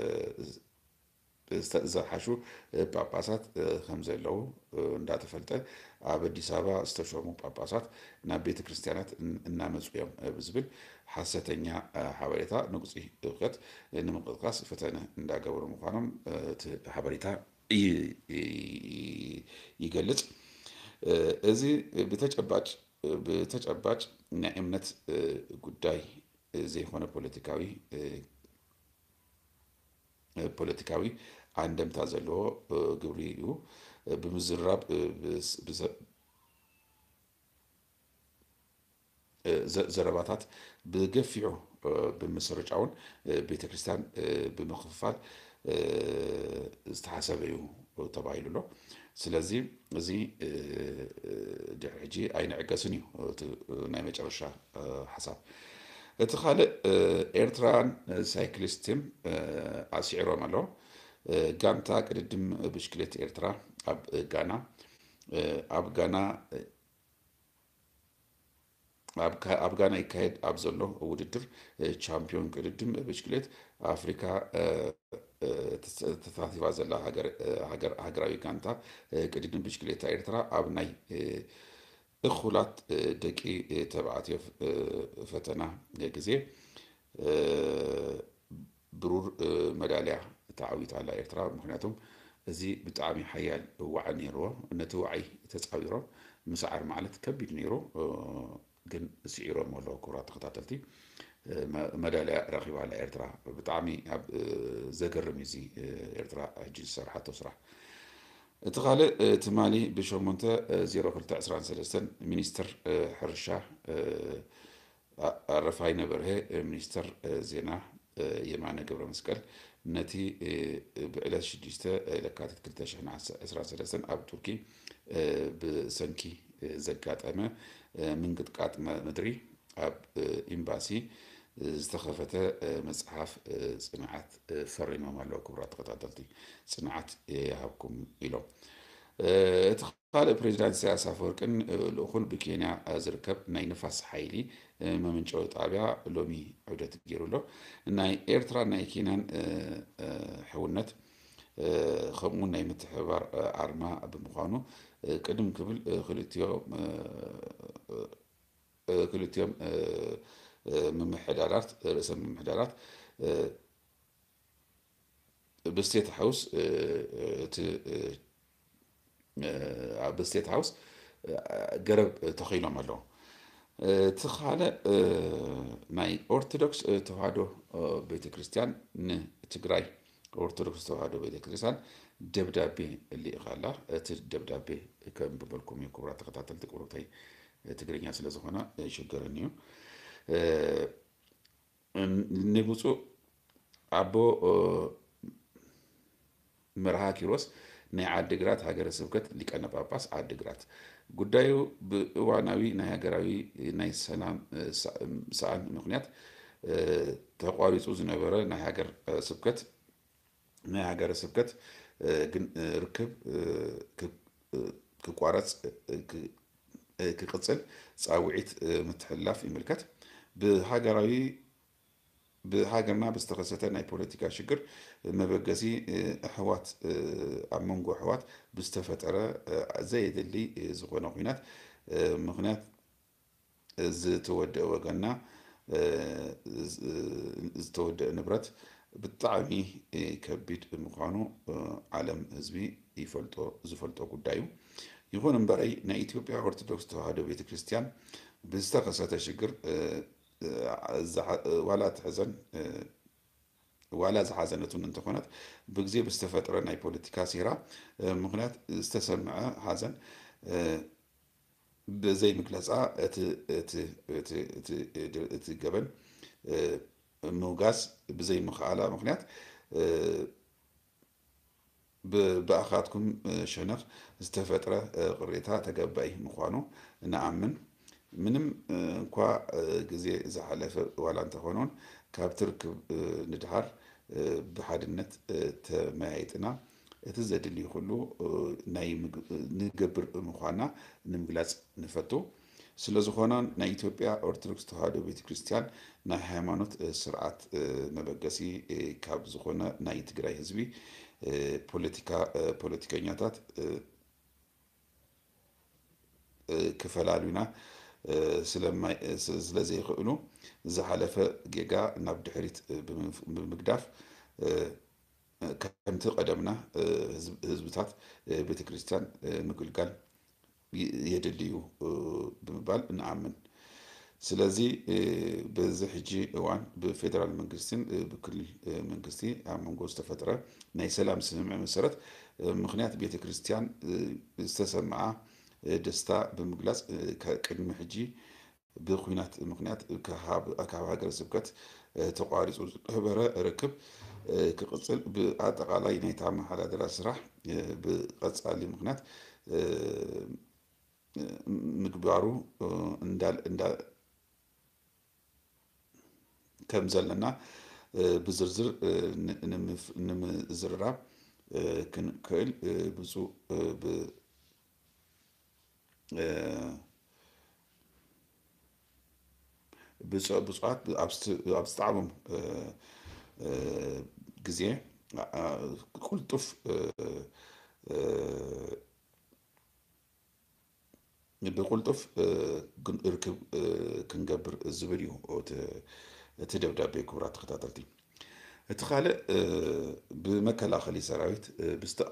ዝተ-፣ ዝሓሹ፣ እ፣ ጳጳሳት፣ እ፣ ከም ዘለዉ፣ እ፣ እንዳተፈልጠ፣ ኣብ ኣዲስ ኣበባ ዝተሾሙ ጳጳሳት ናብ ቤተ ክርስቲያናት እን-፣ እናመጹ እዮም፣ እ፣ ብዝብል ሓሰተኛ፣ እ፣ ሓበሬታ ንቁጽሪ እውከት ንምንቅስቃስ ፈተነ እንዳገበሩ ምዃኖም፣ እ፣ እቲ ሓበሬታ ይ-፣ ይ-፣ ይገልጽ። እ፣ እዚ ብተጨባጭ፣ ብተጨባጭ ናይ እምነት፣ እ፣ ጉዳይ ዘይኮነ ፖለቲካዊ፣ እ፣ ፖለቲካዊ ኣንደምታ ዘለዎ ግብሪ እዩ። ብምዝራብ ዘረባታት ብገፊዑ ብምስርጫውን ቤተክርስትያን ብምኽፍፋል ዝተሓሰበ እዩ ተባሂሉ ኣሎ። ስለዚ እዚ ድሕሪ ሕጂ ኣይንዕገስን እዩ እቲ ናይ መጨረሻ ሓሳብ። እቲ ካልእ ኤርትራን ሳይክሊስትን ኣስዒሮም ኣሎ። ጋንታ ቅድድም ብሽክሌት ኤርትራ ኣብ ጋና ኣብ ጋና ኣብ ጋና ይካየድ ኣብ ዘሎ ውድድር ቻምፒዮን ቅድድም ብሽክሌት ኣፍሪካ ተሳቲፋ ዘላ ሃገራዊ ጋንታ ቅድድም ብሽክሌታ ኤርትራ ኣብ ናይ እኹላት ደቂ ተባዕትዮ ፈተና ግዜ ብሩር መዳልያ ተዓዊታ ኣላ ኤርትራ። ምክንያቱም እዚ ብጣዕሚ ሓያል ዋዒ ነይርዎ። ነቲ ዋዒ ተፃዊሮም ምስዓር ማለት ከቢድ ነይሩ፣ ግን ስዒሮም ኣለዉ። ክቡራት ተኸታተልቲ፣ መዳልያ ረኺባ ኣላ ኤርትራ። ብጣዕሚ ኣብ ዘገርም እዩ እዚ ኤርትራ ሕጂ ዝሰርሓቶ ስራሕ። እቲ ካልእ ትማሊ ብሸሞንተ ዜሮ ክልተ ዕስራን ሰለስተን ሚኒስትር ሕርሻ ኣረፋይነ በርሀ፣ ሚኒስተር ዜና የማነ ገብረመስቀል ነቲ ብዕለት ሽዱሽተ ለካቲት ክልተ ሽሕን ዕስራን ሰለስተን ኣብ ቱርኪ ብሰንኪ ዘጋጠመ ምንቅጥቃጥ ምድሪ ኣብ ኤምባሲ ዝተኸፈተ መጽሓፍ ጽንዓት ፈሪሞም ኣለዉ። ክቡራት ተኸታተልቲ፣ ጽንዓት ይሃብኩም ኢሎም። እቲ ካልእ ፕሬዚዳንት ኢሳያስ ኣፈወርቅን ልኡኹን ብኬንያ ዝርከብ ናይ ንፋስ ሓይሊ መመንጨዊ ጣብያ ሎሚ ዑደት ገይሩ ኣሎ። ናይ ኤርትራን ናይ ኬንያን ሕውነት ከምኡውን ናይ ምትሕብባር ኣርማ ብምዃኑ ቅድም ክብል ክልቲኦም ክልቲኦም ምምሕዳራት ርእሰ ምምሕዳራት ብስቴት ሃውስ እቲ ኣብ ስቴት ሃውስ ገረብ ተኺሎም ኣለዉ። እቲ ካልእ ናይ ኦርቶዶክስ ተዋህዶ ቤተክርስትያን ንትግራይ ኦርቶዶክስ ተዋህዶ ቤተክርስትያን ደብዳቤ ልኢኻ ኣላ። እቲ ደብዳቤ ከንብበልኩም እዩ ክቡራት ተኸታተልቲ፣ ቁሩብተይ ትግርኛ ስለ ዝኾነ ይሽገረኒ እዩ። ንብፁዕ ኣቦ መርሃ ኪሮስ ናይ ዓዲግራት ሃገረ ስብከት ሊቀነ ጳጳስ ዓዲግራት ጉዳዩ ብእዋናዊ ናይ ሃገራዊ ናይ ሰላም ሰኣን ምኽንያት ተቋሪፁ ዝነበረ ናይ ሃገር ስብከት ናይ ሃገረ ስብከት ግን ርክብ ክቋረፅ ክቅፅል ፃውዒት ምትሕልላፍ ይምልከት። ብሃገራዊ ብሃገርና ብዝተኸሰተ ናይ ፖለቲካ ሽግር መበገሲ ኣሕዋት ኣብ መንጎ ኣሕዋት ብዝተፈጠረ ዘየድሊ ዝኾነ ኲናት ምኽንያት ዝተወደአ ወገንና ዝተወደአ ንብረት ብጣዕሚ ከቢድ ምዃኑ ዓለም ህዝቢ ይፈልጦ ዝፈልጦ ጉዳይ እዩ። ይኹን እምበረይ ናይ ኢትዮጵያ ኦርቶዶክስ ተዋህዶ ቤተክርስትያን ብዝተኸሰተ ሽግር ዋላ ትሕዘን ዋላ ዝሓዘነቱን እንተኾነት ብግዜ ብዝተፈጥረ ናይ ፖለቲካ ሴራ ምኽንያት ዝተሰምዐ ሓዘን ብዘይምግለፃ እቲ ገበን ምውጋዝ ብዘይምኽኣላ ምኽንያት ብኣኻትኩም ሸነኽ ዝተፈጥረ ቅሬታ ተገባኢ ምዃኑ ንኣምን። ምንም እንኳ ግዜ ዝሓለፈ ዋላ እንተኾነውን ካብቲ ርክብ ንድሓር ብሓድነት ተመያይጥና እቲ ዘድልዩ ኩሉ ናይ ንገብር ምዃና ንምግላፅ ንፈቱ። ስለ ዝኾነ ናይ ኢትዮጵያ ኦርቶዶክስ ተዋህዶ ቤተክርስትያን ናይ ሃይማኖት ስርዓት መበገሲ ካብ ዝኾነ ናይ ትግራይ ህዝቢ ፖለቲካ ፖለቲከኛታት ክፈላሉና ስለዘይኽእሉ ዝሓለፈ ጌጋ ናብ ድሕሪት ብምግዳፍ ከምቲ ቀደምና ህዝብታት ቤተክርስትያን ምግልጋል የድልዩ ብምባል ንኣምን። ስለዚ በዚ ሕጂ እዋን ብፌደራል መንግስትን ብክልል መንግስቲ ኣብ መንጎ ዝተፈጥረ ናይ ሰላም ስምምዕ መሰረት ምኽንያት ቤተ ክርስቲያን ዝተሰምዓ ደስታ ብምግላጽ፣ ቅድሚ ሕጂ ብኹናት ምኽንያት ካብ ሃገረ ስብከት ተቋሪጹ ዝነበረ ርክብ ክቕጽል፣ ብኣጠቓላይ ናይታ ኣመሓዳድራ ስራሕ ብቐጻሊ ምኽንያት ምግባሩ ከም ዘለና ብዝርዝር ንምዝርራብ ክንክእል ብፁዕ ብፁዓት ኣብ ዝጠዓሞም ግዜ ቁልጡፍ ብቁልጡፍ ርክብ ክንገብር ዝብል እዩ እቲ ደብዳቤ። ክቡራት ተኸታተልቲ፣ እቲ ካልእ ብመከላኸሊ ሰራዊት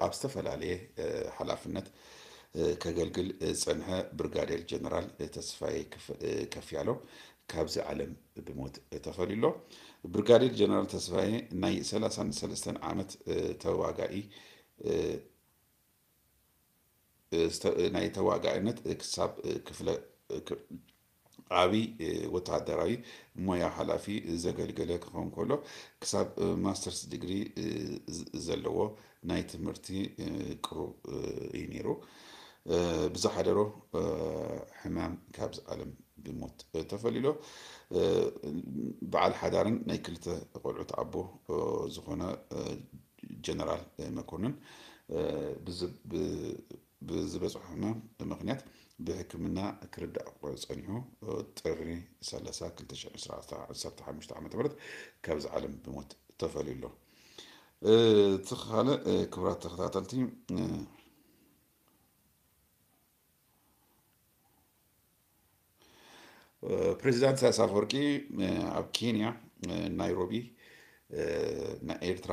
ኣብ ዝተፈላለየ ሓላፍነት ከገልግል ዝጸንሐ ብርጋዴር ጀነራል ተስፋዬ ከፍያለው ካብዚ ዓለም ብሞት ተፈልዩ ኣሎ። ብርጋዴር ጀነራል ተስፋዬ ናይ ሰላሳን ሰለስተን ዓመት ተዋጋኢ ናይ ተዋጋእነት ክሳብ ክፍለ ዓቢ ወተሃደራዊ ሞያ ሓላፊ ዘገልገለ ክኸውን ከሎ፣ ክሳብ ማስተርስ ዲግሪ ዘለዎ ናይ ትምህርቲ ቅሩብ እዩ ነይሩ። ብዝሓደሮ ሕማም ካብዚ ዓለም ብሞት ተፈልዩ ኣሎ። በዓል ሓዳርን ናይ ክልተ ቆልዑት ኣቦ ዝኾነ ጀነራል መኮንን ብዝበፅሖ ሕማም ምኽንያት ብሕክምና ክርዳእ ጸኒሑ ጥሪ ሰላሳ ክልተ ሽሕ ዕስራን ዓሰርተ ሓሙሽተ ዓመተ ምህረት ካብዚ ዓለም ብሞት ተፈልዩ ኣሎ። እቲ ካልእ ክቡራት ተኸታተልቲ ፕሬዚዳንት ኢሳያስ ኣፈወርቂ ኣብ ኬንያ ናይሮቢ ናይ ኤርትራ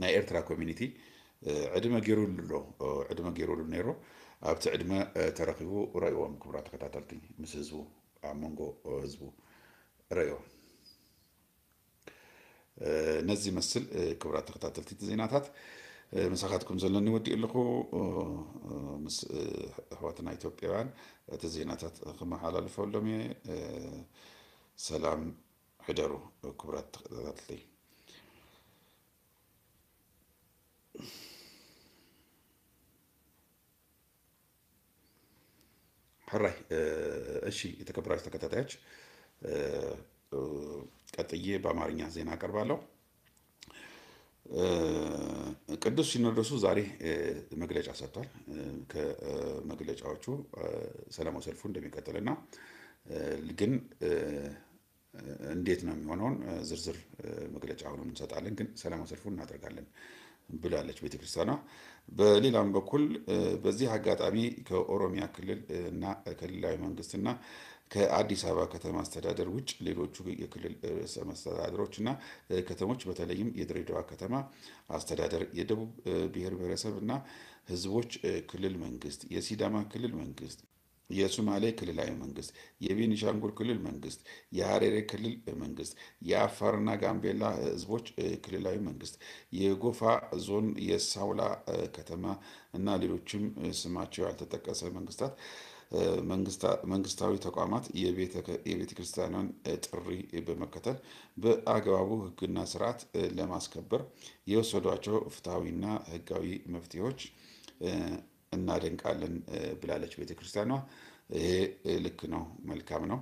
ናይ ኤርትራ ኮሚኒቲ ዕድመ ገይሩሉ ኣሎ። ዕድመ ገይሩሉ ነይሩ። ኣብቲ ዕድመ ተረኺቡ ረእይዎም፣ ክቡራት ተከታተልቲ፣ ምስ ህዝቡ፣ ኣብ መንጎ ህዝቡ ረእይዎም። ነዚ ይመስል ክቡራት ተከታተልቲ እቲ ዜናታት። ምሳኻትኩም ዘለኒ ወዲእ ኣለኹ። ምስ ኣሕዋትና ኢትዮጵያውያን እቲ ዜናታት ክመሓላልፈሎም እየ። ሰላም ሕደሩ ክቡራት ተከታተልቲ። ሕራይ። እሺ፣ የተከበራችሁ ተከታታዮች፣ ቀጥዬ በአማርኛ ዜና አቀርባለሁ። ቅዱስ ሲኖዶሱ ዛሬ መግለጫ ሰጥቷል። ከመግለጫዎቹ ሰላማዊ ሰልፉ እንደሚቀጥልና ግን እንዴት ነው የሚሆነውን ዝርዝር መግለጫ አሁንም እንሰጣለን፣ ግን ሰላማዊ ሰልፉን እናደርጋለን ብላለች ቤተክርስቲያኗ። በሌላም በኩል በዚህ አጋጣሚ ከኦሮሚያ ክልል እና ክልላዊ መንግስትና ከአዲስ አበባ ከተማ አስተዳደር ውጭ ሌሎቹ የክልል ርዕሰ መስተዳድሮች እና ከተሞች በተለይም የድሬዳዋ ከተማ አስተዳደር፣ የደቡብ ብሔር ብሔረሰብ እና ህዝቦች ክልል መንግስት፣ የሲዳማ ክልል መንግስት፣ የሱማሌ ክልላዊ መንግስት፣ የቤኒሻንጉል ክልል መንግስት፣ የሀረሪ ክልል መንግስት፣ የአፋርና ጋምቤላ ህዝቦች ክልላዊ መንግስት፣ የጎፋ ዞን የሳውላ ከተማ እና ሌሎችም ስማቸው ያልተጠቀሰ መንግስታት መንግስታዊ ተቋማት የቤተ ክርስቲያኗን ጥሪ በመከተል በአግባቡ ህግና ስርዓት ለማስከበር የወሰዷቸው ፍትሐዊና ህጋዊ መፍትሄዎች እናደንቃለን ብላለች ቤተክርስቲያኗ። ይሄ ልክ ነው፣ መልካም ነው።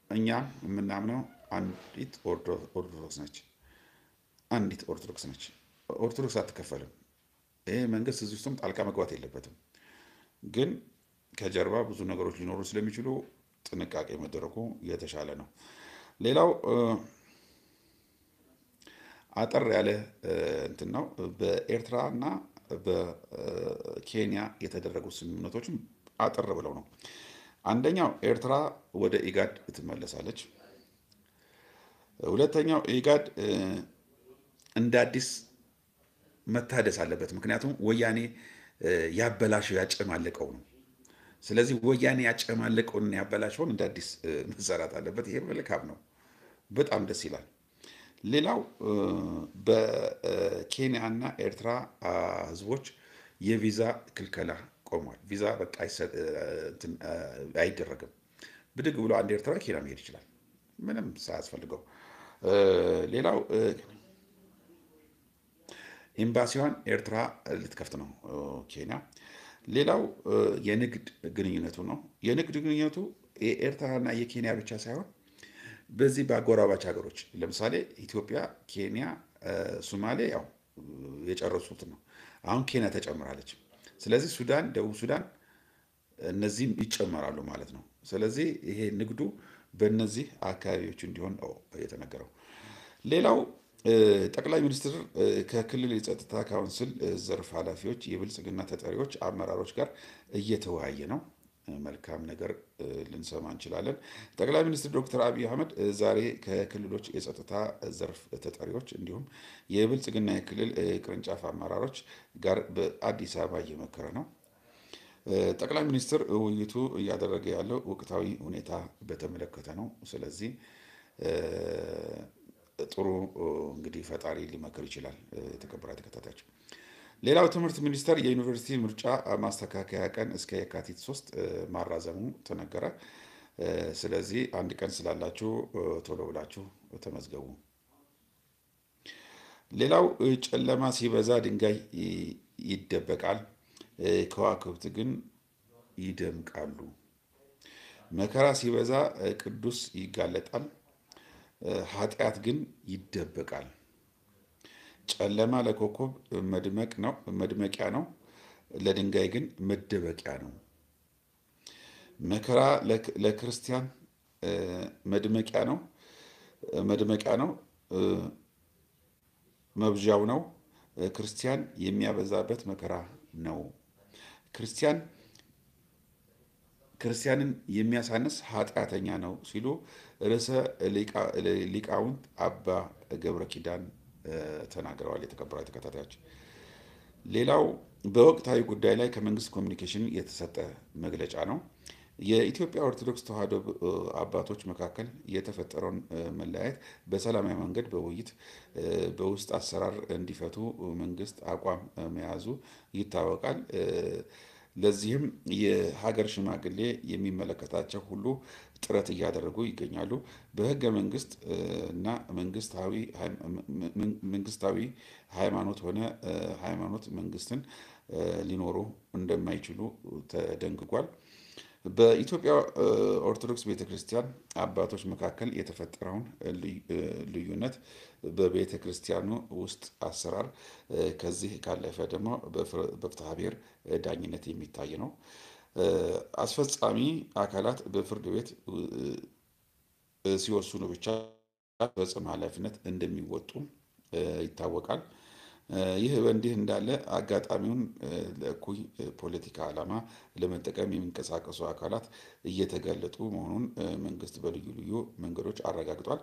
እኛ የምናምነው አንዲት ኦርቶዶክስ ነች፣ አንዲት ኦርቶዶክስ ነች። ኦርቶዶክስ አትከፈልም። ይሄ መንግስት እዚህ ውስጥም ጣልቃ መግባት የለበትም። ግን ከጀርባ ብዙ ነገሮች ሊኖሩ ስለሚችሉ ጥንቃቄ መደረጉ የተሻለ ነው። ሌላው አጠር ያለ እንትን ነው። በኤርትራ እና በኬንያ የተደረጉ ስምምነቶችም አጠር ብለው ነው። አንደኛው ኤርትራ ወደ ኢጋድ ትመለሳለች። ሁለተኛው ኢጋድ እንደ አዲስ መታደስ አለበት። ምክንያቱም ወያኔ ያበላሸው ያጨማለቀው ነው። ስለዚህ ወያኔ ያጨማለቀውንና ያበላሸውን እንደ አዲስ መሰራት አለበት። ይሄ መልካም ነው፣ በጣም ደስ ይላል። ሌላው በኬንያና ኤርትራ ህዝቦች የቪዛ ክልከላ ቆሟል። ቪዛ በቃ አይደረግም። ብድግ ብሎ አንድ ኤርትራ ኬንያ መሄድ ይችላል ምንም ሳያስፈልገው። ሌላው ኤምባሲዋን ኤርትራ ልትከፍት ነው ኬንያ። ሌላው የንግድ ግንኙነቱ ነው። የንግድ ግንኙነቱ የኤርትራና የኬንያ ብቻ ሳይሆን በዚህ በአጎራባች ሀገሮች ለምሳሌ ኢትዮጵያ፣ ኬንያ፣ ሶማሌ ያው የጨረሱት ነው። አሁን ኬንያ ተጨምራለች። ስለዚህ ሱዳን፣ ደቡብ ሱዳን እነዚህም ይጨመራሉ ማለት ነው። ስለዚህ ይሄ ንግዱ በእነዚህ አካባቢዎች እንዲሆን ነው የተነገረው። ሌላው ጠቅላይ ሚኒስትር ከክልል የጸጥታ ካውንስል ዘርፍ ኃላፊዎች፣ የብልጽግና ተጠሪዎች፣ አመራሮች ጋር እየተወያየ ነው። መልካም ነገር ልንሰማ እንችላለን። ጠቅላይ ሚኒስትር ዶክተር አብይ አህመድ ዛሬ ከክልሎች የጸጥታ ዘርፍ ተጠሪዎች እንዲሁም የብልጽግና የክልል ቅርንጫፍ አመራሮች ጋር በአዲስ አበባ እየመከረ ነው። ጠቅላይ ሚኒስትር ውይይቱ እያደረገ ያለው ወቅታዊ ሁኔታ በተመለከተ ነው። ስለዚህ ጥሩ እንግዲህ ፈጣሪ ሊመክር ይችላል። የተከበራችሁ ተከታታዮች፣ ሌላው ትምህርት ሚኒስቴር የዩኒቨርሲቲ ምርጫ ማስተካከያ ቀን እስከ የካቲት ሶስት ማራዘሙ ተነገረ። ስለዚህ አንድ ቀን ስላላችሁ ቶሎ ብላችሁ ተመዝገቡ። ሌላው ጨለማ ሲበዛ ድንጋይ ይደበቃል፣ ከዋክብት ግን ይደምቃሉ። መከራ ሲበዛ ቅዱስ ይጋለጣል፣ ኃጢአት ግን ይደበቃል። ጨለማ ለኮከብ መድመቅ ነው፣ መድመቂያ ነው፣ ለድንጋይ ግን መደበቂያ ነው። መከራ ለክ-፣ ለክርስቲያን መድመቂያ ነው፣ መድመቂያ ነው፣ መብዣው ነው። ክርስቲያን የሚያበዛበት መከራ ነው። ክርስቲያን ክርስቲያንን የሚያሳንስ ኃጢአተኛ ነው ሲሉ ርዕሰ ሊቃ-፣ ሊቃውንት አባ ገብረ ኪዳን ተናግረዋል። የተከበራችሁ ተከታታዮች፣ ሌላው በወቅታዊ ጉዳይ ላይ ከመንግስት ኮሚኒኬሽን የተሰጠ መግለጫ ነው። የኢትዮጵያ ኦርቶዶክስ ተዋሕዶ አባቶች መካከል የተፈጠረውን መለያየት በሰላማዊ መንገድ በውይይት በውስጥ አሰራር እንዲፈቱ መንግስት አቋም መያዙ ይታወቃል። ለዚህም የሀገር ሽማግሌ የሚመለከታቸው ሁሉ ጥረት እያደረጉ ይገኛሉ። በህገ መንግስት እና መንግስታዊ ሃይም-፣ መንግስታዊ ሃይማኖት ሆነ ሃይማኖት መንግስትን ሊኖሩ እንደማይችሉ ተደንግጓል። በኢትዮጵያ ኦርቶዶክስ ቤተክርስቲያን አባቶች መካከል የተፈጠረውን ልዩ-፣ ልዩነት በቤተክርስቲያኑ ውስጥ አሰራር ከዚህ ካለፈ ደግሞ በፍር-፣ በፍትሐ ብሔር ዳኝነት የሚታይ ነው። አስፈጻሚ አካላት በፍርድ ቤት ሲወስኑ ብቻ ፈጽም ኃላፊነት እንደሚወጡ ይታወቃል። ይህ በእንዲህ እንዳለ አጋጣሚውን ለእኩይ ፖለቲካ ዓላማ ለመጠቀም የሚንቀሳቀሱ አካላት እየተጋለጡ መሆኑን መንግስት በልዩ ልዩ መንገዶች አረጋግጧል።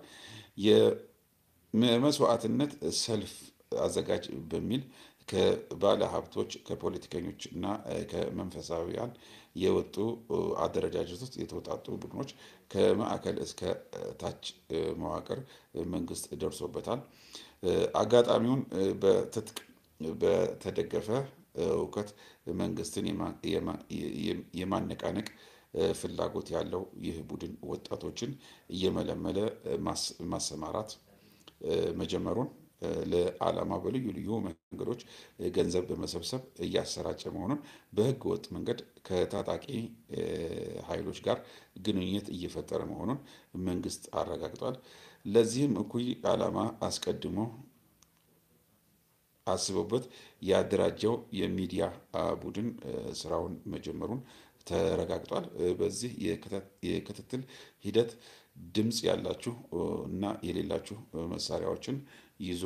የመስዋዕትነት ሰልፍ አዘጋጅ በሚል ከባለ ሀብቶች፣ ከፖለቲከኞች እና ከመንፈሳዊያን የወጡ አደረጃጀቶች የተውጣጡ ቡድኖች ከማዕከል እስከ ታች መዋቅር መንግስት ደርሶበታል። አጋጣሚውን በትጥቅ በተደገፈ እውቀት መንግስትን የማ-፣ የማ-፣ የማነቃነቅ ፍላጎት ያለው ይህ ቡድን ወጣቶችን እየመለመለ ማስ-፣ ማሰማራት መጀመሩን፣ ለዓላማ በልዩ ልዩ መንገዶች ገንዘብ በመሰብሰብ እያሰራጨ መሆኑን፣ በህገ ወጥ መንገድ ከታጣቂ ኃይሎች ጋር ግንኙነት እየፈጠረ መሆኑን መንግስት አረጋግጧል። ለዚህም እኩይ ዓላማ አስቀድሞ አስቦበት ያደራጀው የሚዲያ ቡድን ስራውን መጀመሩን ተረጋግጧል። በዚህ የክተ-፣ የክትትል ሂደት ድምፅ ያላችሁ እና የሌላችሁ መሳሪያዎችን ይዞ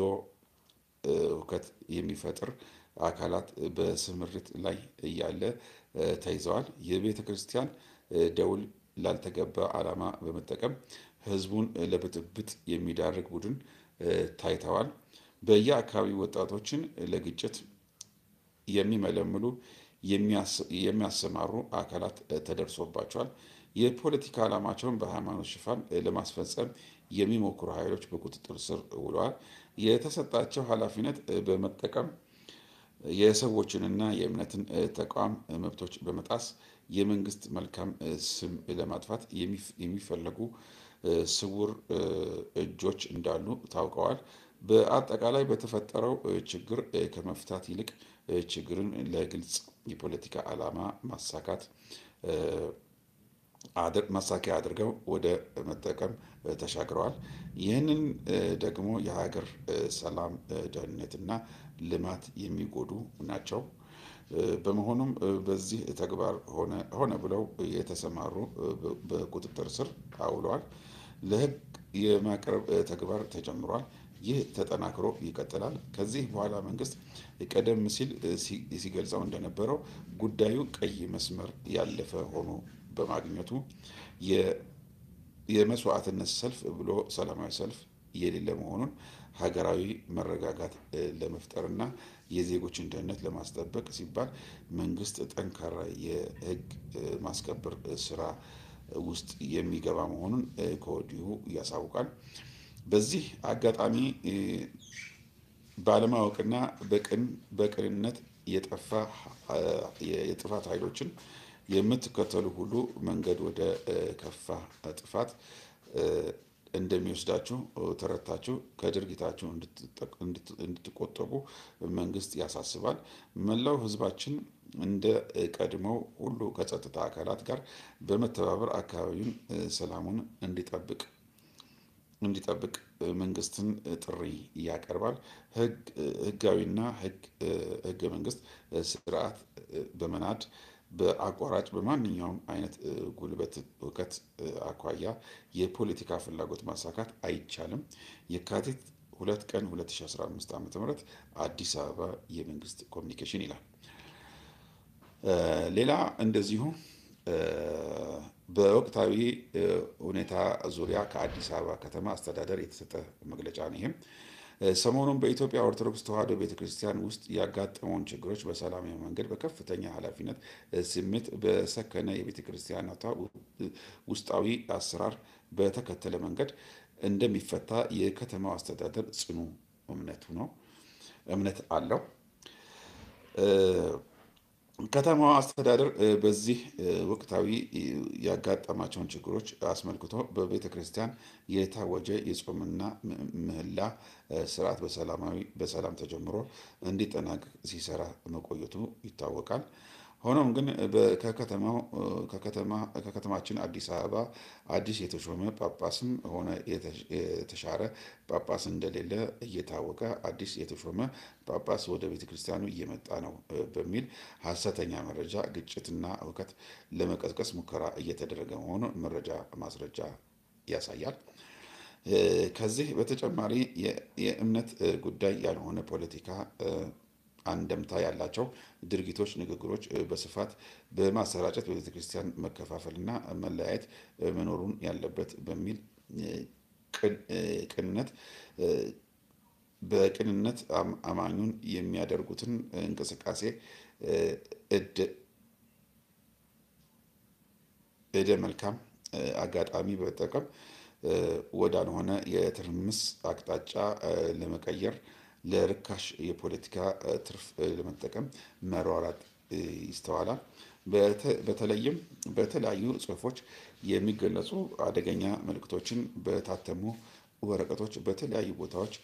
ሁከት የሚፈጥር አካላት በስምሪት ላይ እያለ ተይዘዋል። የቤተ ክርስቲያን ደውል ላልተገባ ዓላማ በመጠቀም ህዝቡን ለብጥብጥ የሚዳርግ ቡድን ታይተዋል። በየአካባቢው ወጣቶችን ለግጭት የሚመለምሉ የሚያሰማሩ አካላት ተደርሶባቸዋል። የፖለቲካ ዓላማቸውን በሃይማኖት ሽፋን ለማስፈጸም የሚሞክሩ ኃይሎች በቁጥጥር ስር ውለዋል። የተሰጣቸው ኃላፊነት በመጠቀም የሰዎችንና የእምነትን ተቋም መብቶች በመጣስ የመንግስት መልካም ስም ለማጥፋት የሚፈለጉ ስውር እጆች እንዳሉ ታውቀዋል። በአጠቃላይ በተፈጠረው ችግር ከመፍታት ይልቅ ችግርን ለግልጽ የፖለቲካ ዓላማ ማሳካት ማሳኪያ አድርገው ወደ መጠቀም ተሻግረዋል። ይህንን ደግሞ የሀገር ሰላም፣ ደህንነትና ልማት የሚጎዱ ናቸው። በመሆኑም በዚህ ተግባር ሆነ ብለው የተሰማሩ በቁጥጥር ስር አውለዋል። ለህግ የማቅረብ ተግባር ተጀምሯል። ይህ ተጠናክሮ ይቀጥላል። ከዚህ በኋላ መንግስት ቀደም ሲል ሲገልጸው እንደነበረው ጉዳዩ ቀይ መስመር ያለፈ ሆኖ በማግኘቱ የመስዋዕትነት ሰልፍ ብሎ ሰላማዊ ሰልፍ የሌለ መሆኑን፣ ሀገራዊ መረጋጋት ለመፍጠርና የዜጎችን ደህንነት ለማስጠበቅ ሲባል መንግስት ጠንካራ የህግ ማስከበር ስራ ውስጥ የሚገባ መሆኑን ከወዲሁ ያሳውቃል። በዚህ አጋጣሚ ባለማወቅና በቅንነት የጠፋ የጥፋት ኃይሎችን የምትከተሉ ሁሉ መንገድ ወደ ከፋ ጥፋት እንደሚወስዳችሁ ተረድታችሁ ከድርጊታችሁ እንድትቆጠቡ መንግስት ያሳስባል። መላው ህዝባችን እንደ ቀድሞው ሁሉ ከጸጥታ አካላት ጋር በመተባበር አካባቢውን ሰላሙን እንዲጠብቅ እንዲጠብቅ መንግስትን ጥሪ ያቀርባል። ህጋዊና ህገ መንግስት ስርዓት በመናድ በአቋራጭ በማንኛውም አይነት ጉልበት፣ እውቀት አኳያ የፖለቲካ ፍላጎት ማሳካት አይቻልም። የካቲት ሁለት ቀን ሁለት ሺህ አስራ አምስት ዓመተ ምህረት አዲስ አበባ የመንግስት ኮሚኒኬሽን ይላል። ሌላ እንደዚሁ በወቅታዊ ሁኔታ ዙሪያ ከአዲስ አበባ ከተማ አስተዳደር የተሰጠ መግለጫ ነው። ይህም ሰሞኑን በኢትዮጵያ ኦርቶዶክስ ተዋሕዶ ቤተክርስቲያን ውስጥ ያጋጠመውን ችግሮች በሰላማዊ መንገድ በከፍተኛ ኃላፊነት ስሜት በሰከነ የቤተክርስቲያናቷ ውስጣዊ አሰራር በተከተለ መንገድ እንደሚፈታ የከተማው አስተዳደር ጽኑ እምነቱ ነው እምነት አለው። ከተማዋ አስተዳደር በዚህ ወቅታዊ ያጋጠማቸውን ችግሮች አስመልክቶ በቤተ ክርስቲያን የታወጀ የጾምና ምህላ ስርዓት በሰላማዊ በሰላም ተጀምሮ እንዲጠናቀቅ ሲሰራ መቆየቱ ይታወቃል። ሆኖም ግን ከከተማችን አዲስ አበባ አዲስ የተሾመ ጳጳስም ሆነ የተሻረ ጳጳስ እንደሌለ እየታወቀ አዲስ የተሾመ ጳጳስ ወደ ቤተ ክርስቲያኑ እየመጣ ነው በሚል ሐሰተኛ መረጃ ግጭትና ሁከት ለመቀስቀስ ሙከራ እየተደረገ መሆኑን መረጃ ማስረጃ ያሳያል። ከዚህ በተጨማሪ የእምነት ጉዳይ ያልሆነ ፖለቲካ አንደምታ ያላቸው ድርጊቶች፣ ንግግሮች በስፋት በማሰራጨት በቤተ ክርስቲያን መከፋፈልና መለያየት መኖሩን ያለበት በሚል ቅንነት በቅንነት አማኙን የሚያደርጉትን እንቅስቃሴ እደ እደ መልካም አጋጣሚ በመጠቀም ወዳልሆነ የትርምስ አቅጣጫ ለመቀየር ለርካሽ የፖለቲካ ትርፍ ለመጠቀም መሯራጥ ይስተዋላል። በተለይም በተለያዩ ጽሁፎች የሚገለጹ አደገኛ መልእክቶችን በታተሙ ወረቀቶች በተለያዩ ቦታዎች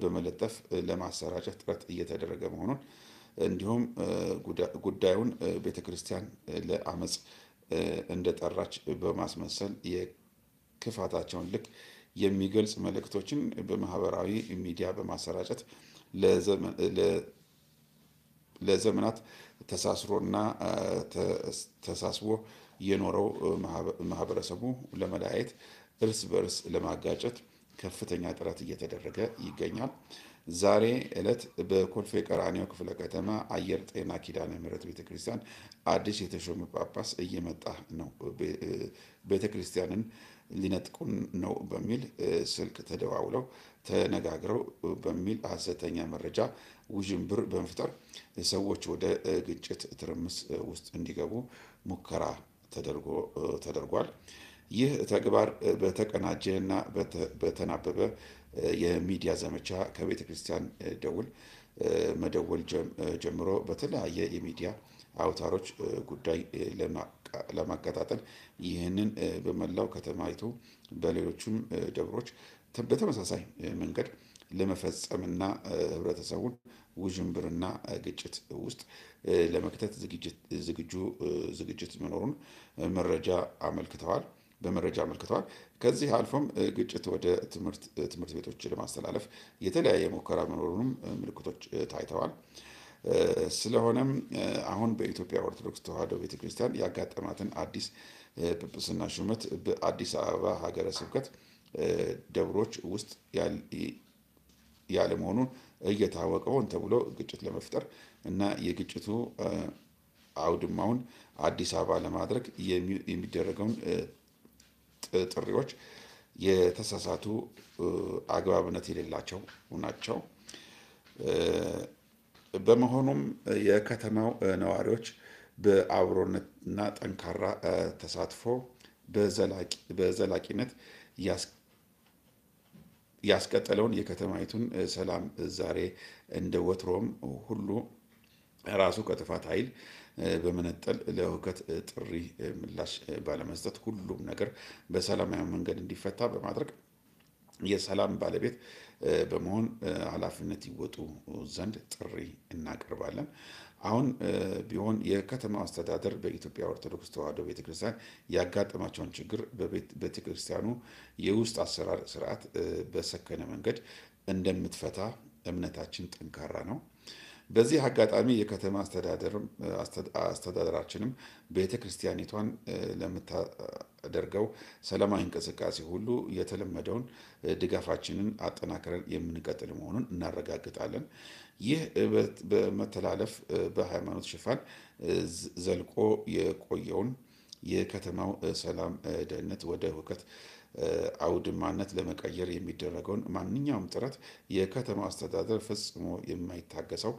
በመለጠፍ ለማሰራጨት ጥረት እየተደረገ መሆኑን እንዲሁም ጉዳዩን ቤተክርስቲያን ለአመፅ እንደጠራች በማስመሰል የክፋታቸውን ልክ የሚገልጽ መልእክቶችን በማህበራዊ ሚዲያ በማሰራጨት ለዘመናት ተሳስሮና ተሳስቦ የኖረው ማህበረሰቡ ለመለያየት፣ እርስ በእርስ ለማጋጨት ከፍተኛ ጥረት እየተደረገ ይገኛል። ዛሬ ዕለት በኮልፌ ቀራኒዮ ክፍለ ከተማ አየር ጤና ኪዳነ ምህረት ቤተክርስቲያን አዲስ የተሾመ ጳጳስ እየመጣ ነው። ቤተክርስቲያንን ሊነጥቁን ነው በሚል ስልክ ተደዋውለው ተነጋግረው በሚል ሐሰተኛ መረጃ ውዥንብር በመፍጠር ሰዎች ወደ ግጭት ትርምስ ውስጥ እንዲገቡ ሙከራ ተደርጓል። ይህ ተግባር በተቀናጀ እና በተናበበ የሚዲያ ዘመቻ ከቤተ ክርስቲያን ደውል መደወል ጀምሮ በተለያየ የሚዲያ አውታሮች ጉዳይ ለማቀጣጠል ይህንን በመላው ከተማይቱ በሌሎችም ደብሮች በተመሳሳይ መንገድ ለመፈጸምና ህብረተሰቡን ውዥንብርና ግጭት ውስጥ ለመክተት ዝግጁ ዝግጅት መኖሩን መረጃ አመልክተዋል በመረጃ አመልክተዋል። ከዚህ አልፎም ግጭት ወደ ትምህርት ቤቶች ለማስተላለፍ የተለያየ ሙከራ መኖሩንም ምልክቶች ታይተዋል። ስለሆነም አሁን በኢትዮጵያ ኦርቶዶክስ ተዋሕዶ ቤተክርስቲያን ያጋጠማትን አዲስ ጵጵስና ሹመት በአዲስ አበባ ሀገረ ስብከት ደብሮች ውስጥ ያለመሆኑን እየታወቀ ሆን ተብሎ ግጭት ለመፍጠር እና የግጭቱ አውድማውን አዲስ አበባ ለማድረግ የሚደረገውን ጥሪዎች የተሳሳቱ አግባብነት የሌላቸው ናቸው። በመሆኑም የከተማው ነዋሪዎች በአብሮነትና ጠንካራ ተሳትፎ በዘላቂነት ያስቀጠለውን የከተማይቱን ሰላም ዛሬ እንደ ወትሮም ሁሉ ራሱ ከጥፋት ኃይል በመነጠል ለሁከት ጥሪ ምላሽ ባለመስጠት ሁሉም ነገር በሰላማዊ መንገድ እንዲፈታ በማድረግ የሰላም ባለቤት በመሆን ኃላፊነት ይወጡ ዘንድ ጥሪ እናቀርባለን። አሁን ቢሆን የከተማው አስተዳደር በኢትዮጵያ ኦርቶዶክስ ተዋሕዶ ቤተክርስቲያን ያጋጠማቸውን ችግር በቤተክርስቲያኑ የውስጥ አሰራር ስርዓት በሰከነ መንገድ እንደምትፈታ እምነታችን ጠንካራ ነው። በዚህ አጋጣሚ የከተማ አስተዳደራችንም ቤተክርስቲያኒቷን ለምታደርገው ሰላማዊ እንቅስቃሴ ሁሉ የተለመደውን ድጋፋችንን አጠናክረን የምንቀጥል መሆኑን እናረጋግጣለን። ይህ በመተላለፍ በሃይማኖት ሽፋን ዘልቆ የቆየውን የከተማው ሰላም ደህንነት ወደ ሁከት አውድማነት ለመቀየር የሚደረገውን ማንኛውም ጥረት የከተማ አስተዳደር ፈጽሞ የማይታገሰው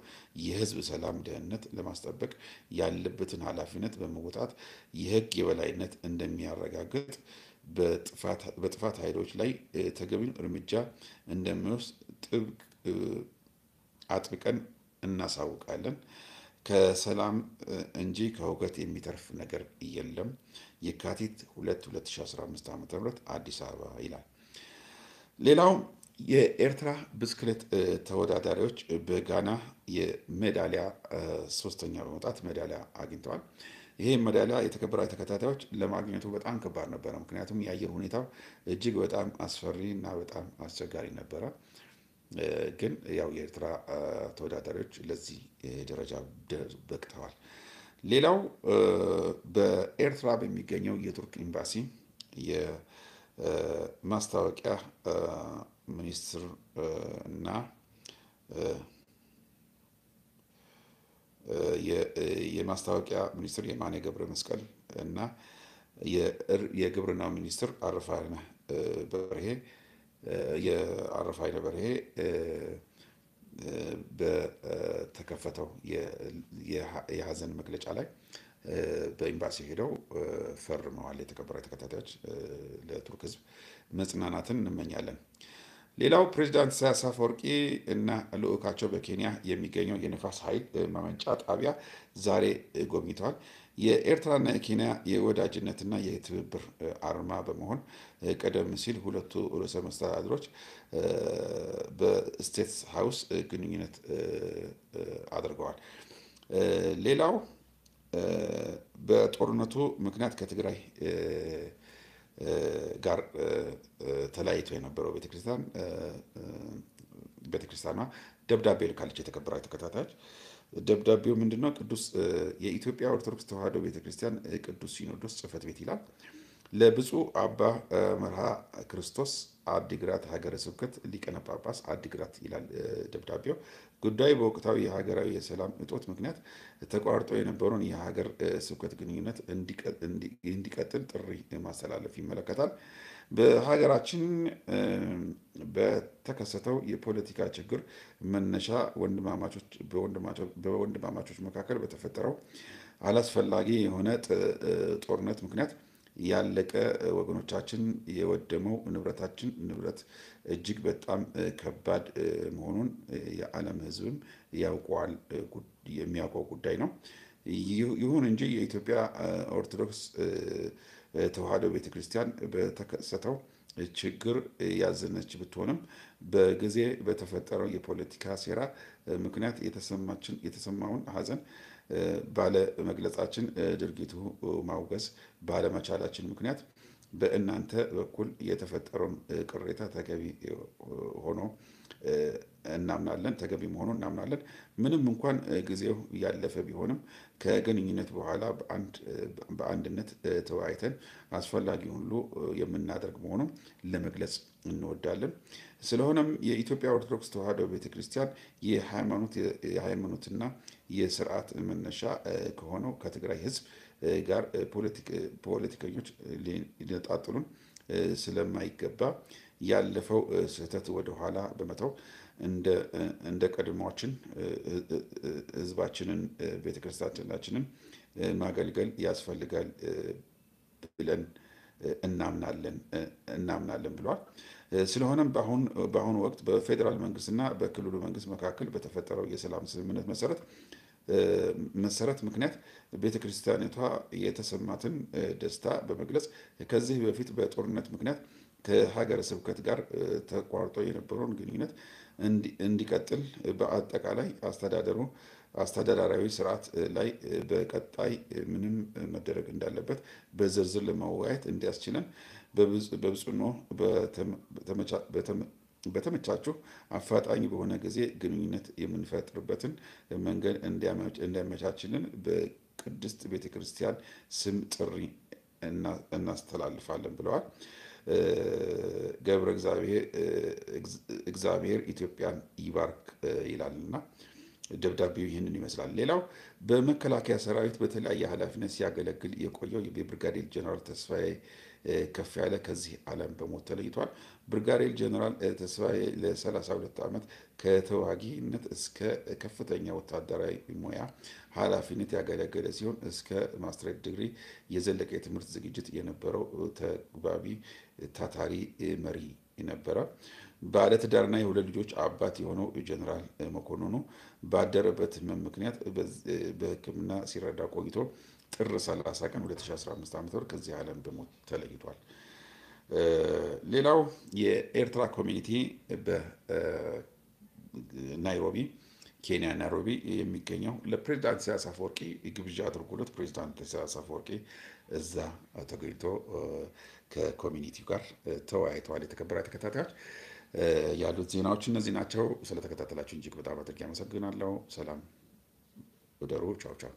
የህዝብ ሰላም ደህንነት ለማስጠበቅ ያለበትን ኃላፊነት በመወጣት የህግ የበላይነት እንደሚያረጋግጥ በጥፋት ኃይሎች ላይ ተገቢውን እርምጃ እንደሚወስድ ጥብቅ አጥብቀን እናሳውቃለን። ከሰላም እንጂ ከሁከት የሚተርፍ ነገር የለም። የካቲት ሁለት ሁለት ሺ አስራ አምስት ዓመተ ምህረት አዲስ አበባ ይላል። ሌላው የኤርትራ ብስክሌት ተወዳዳሪዎች በጋና የሜዳሊያ ሶስተኛ በመውጣት ሜዳሊያ አግኝተዋል። ይሄ ሜዳሊያ የተከበራችሁ ተከታታዮች ለማግኘቱ በጣም ከባድ ነበረ። ምክንያቱም የአየር ሁኔታው እጅግ በጣም አስፈሪ እና በጣም አስቸጋሪ ነበረ። ግን ያው የኤርትራ ተወዳዳሪዎች ለዚህ ደረጃ በቅተዋል። ሌላው በኤርትራ በሚገኘው የቱርክ ኤምባሲ የማስታወቂያ ሚኒስትር እና የማስታወቂያ ሚኒስትር የማነ ገብረ መስቀል እና የግብርና ሚኒስትር አረፋይነህ በርሄ የአረፋይነህ በርሄ በተከፈተው የሀዘን መግለጫ ላይ በኤምባሲ ሄደው ፈርመዋል። የተከበራችሁ ተከታታዮች ለቱርክ ህዝብ መጽናናትን እንመኛለን። ሌላው ፕሬዚዳንት ኢሳያስ አፈወርቂ እና ልዑካቸው በኬንያ የሚገኘው የንፋስ ኃይል ማመንጫ ጣቢያ ዛሬ ጎብኝተዋል። የኤርትራና የኬንያ የወዳጅነትና የትብብር አርማ በመሆን ቀደም ሲል ሁለቱ ርዕሰ መስተዳድሮች በስቴትስ ሀውስ ግንኙነት አድርገዋል። ሌላው በጦርነቱ ምክንያት ከትግራይ ጋር ተለያይቶ የነበረው ቤተክርስቲያን ቤተክርስቲያኗ ደብዳቤ ልካለች። የተከበራችሁ ተከታታዮች ደብዳቤው ምንድነው? ቅዱስ የኢትዮጵያ ኦርቶዶክስ ተዋሕዶ ቤተክርስቲያን ቅዱስ ሲኖዶስ ጽሕፈት ቤት ይላል። ለብፁዕ አባ መርሃ ክርስቶስ አዲግራት ሀገረ ስብከት ሊቀነ ጳጳስ አዲግራት ይላል ደብዳቤው። ጉዳዩ በወቅታዊ የሀገራዊ የሰላም እጦት ምክንያት ተቋርጦ የነበረውን የሀገር ስብከት ግንኙነት እንዲቀጥል ጥሪ ማስተላለፍ ይመለከታል። በሀገራችን በተከሰተው የፖለቲካ ችግር መነሻ ወንድማማቾች በወንድማማቾች መካከል በተፈጠረው አላስፈላጊ የሆነ ጦርነት ምክንያት ያለቀ ወገኖቻችን፣ የወደመው ንብረታችን ንብረት እጅግ በጣም ከባድ መሆኑን የዓለም ሕዝብም ያውቀዋል፣ የሚያውቀው ጉዳይ ነው። ይሁን እንጂ የኢትዮጵያ ኦርቶዶክስ ተዋሕዶ ቤተክርስቲያን በተከሰተው ችግር ያዘነች ብትሆንም በጊዜ በተፈጠረው የፖለቲካ ሴራ ምክንያት የተሰማውን ሐዘን ባለመግለጻችን ድርጊቱ ማውገዝ ባለመቻላችን ምክንያት በእናንተ በኩል የተፈጠረውን ቅሬታ ተገቢ ሆኖ እናምናለን፣ ተገቢ መሆኑን እናምናለን። ምንም እንኳን ጊዜው ያለፈ ቢሆንም ከግንኙነት በኋላ በአንድነት ተወያይተን አስፈላጊ ሁሉ የምናደርግ መሆኑን ለመግለጽ እንወዳለን። ስለሆነም የኢትዮጵያ ኦርቶዶክስ ተዋሕዶ ቤተክርስቲያን የሃይማኖትና የስርዓት መነሻ ከሆነው ከትግራይ ሕዝብ ጋር ፖለቲከኞች ሊነጣጥሉን ስለማይገባ ያለፈው ስህተት ወደ ኋላ በመተው እንደ ቀድሞችን ሕዝባችንን ቤተክርስቲያናችንን ማገልገል ያስፈልጋል ብለን እናምናለን እናምናለን ብለዋል። ስለሆነም በአሁኑ ወቅት በፌዴራል መንግስትና በክልሉ መንግስት መካከል በተፈጠረው የሰላም ስምምነት መሰረት መሰረት ምክንያት ቤተክርስቲያኒቷ የተሰማትን ደስታ በመግለጽ ከዚህ በፊት በጦርነት ምክንያት ከሀገረ ስብከት ጋር ተቋርጦ የነበረውን ግንኙነት እንዲቀጥል በአጠቃላይ አስተዳደሩ አስተዳደራዊ ስርዓት ላይ በቀጣይ ምንም መደረግ እንዳለበት በዝርዝር ለመወያየት እንዲያስችለን በብፁዕኖ በተመቻችሁ አፋጣኝ በሆነ ጊዜ ግንኙነት የምንፈጥርበትን መንገድ እንዲያመቻችልን በቅድስት ቤተክርስቲያን ስም ጥሪ እናስተላልፋለን ብለዋል። ገብረ እግዚአብሔር ኢትዮጵያን ይባርክ ይላልና ደብዳቤው ይህንን ይመስላል። ሌላው በመከላከያ ሰራዊት በተለያየ ኃላፊነት ሲያገለግል የቆየው የብርጋዴር ጀነራል ተስፋዬ ከፍ ያለ ከዚህ ዓለም በሞት ተለይቷል። ብርጋዴር ጀነራል ተስፋዬ ለ32 ዓመት ከተዋጊነት እስከ ከፍተኛ ወታደራዊ ሙያ ኃላፊነት ያገለገለ ሲሆን እስከ ማስትሬት ዲግሪ የዘለቀ የትምህርት ዝግጅት የነበረው ተግባቢ ታታሪ መሪ ነበረ። ባለትዳርና የሁለት ልጆች አባት የሆነው ጀነራል መኮንኑ ባደረበት ህመም ምክንያት በሕክምና ሲረዳ ቆይቶ ጥር 30 ቀን 2015 ዓ.ም ከዚህ ዓለም በሞት ተለይቷል። ሌላው የኤርትራ ኮሚኒቲ በናይሮቢ ኬንያ ናይሮቢ የሚገኘው ለፕሬዚዳንት ኢሳያስ አፈወርቂ ግብዣ አድርጎለት ፕሬዚዳንት ኢሳያስ አፈወርቂ እዛ ተገኝቶ ከኮሚኒቲው ጋር ተወያይተዋል። የተከበራችሁ ተከታታዮች ያሉት ዜናዎች እነዚህ ናቸው። ስለተከታተላችሁ እጅግ በጣም አድርጌ አመሰግናለሁ። ሰላም እደሩ። ቻው ቻው።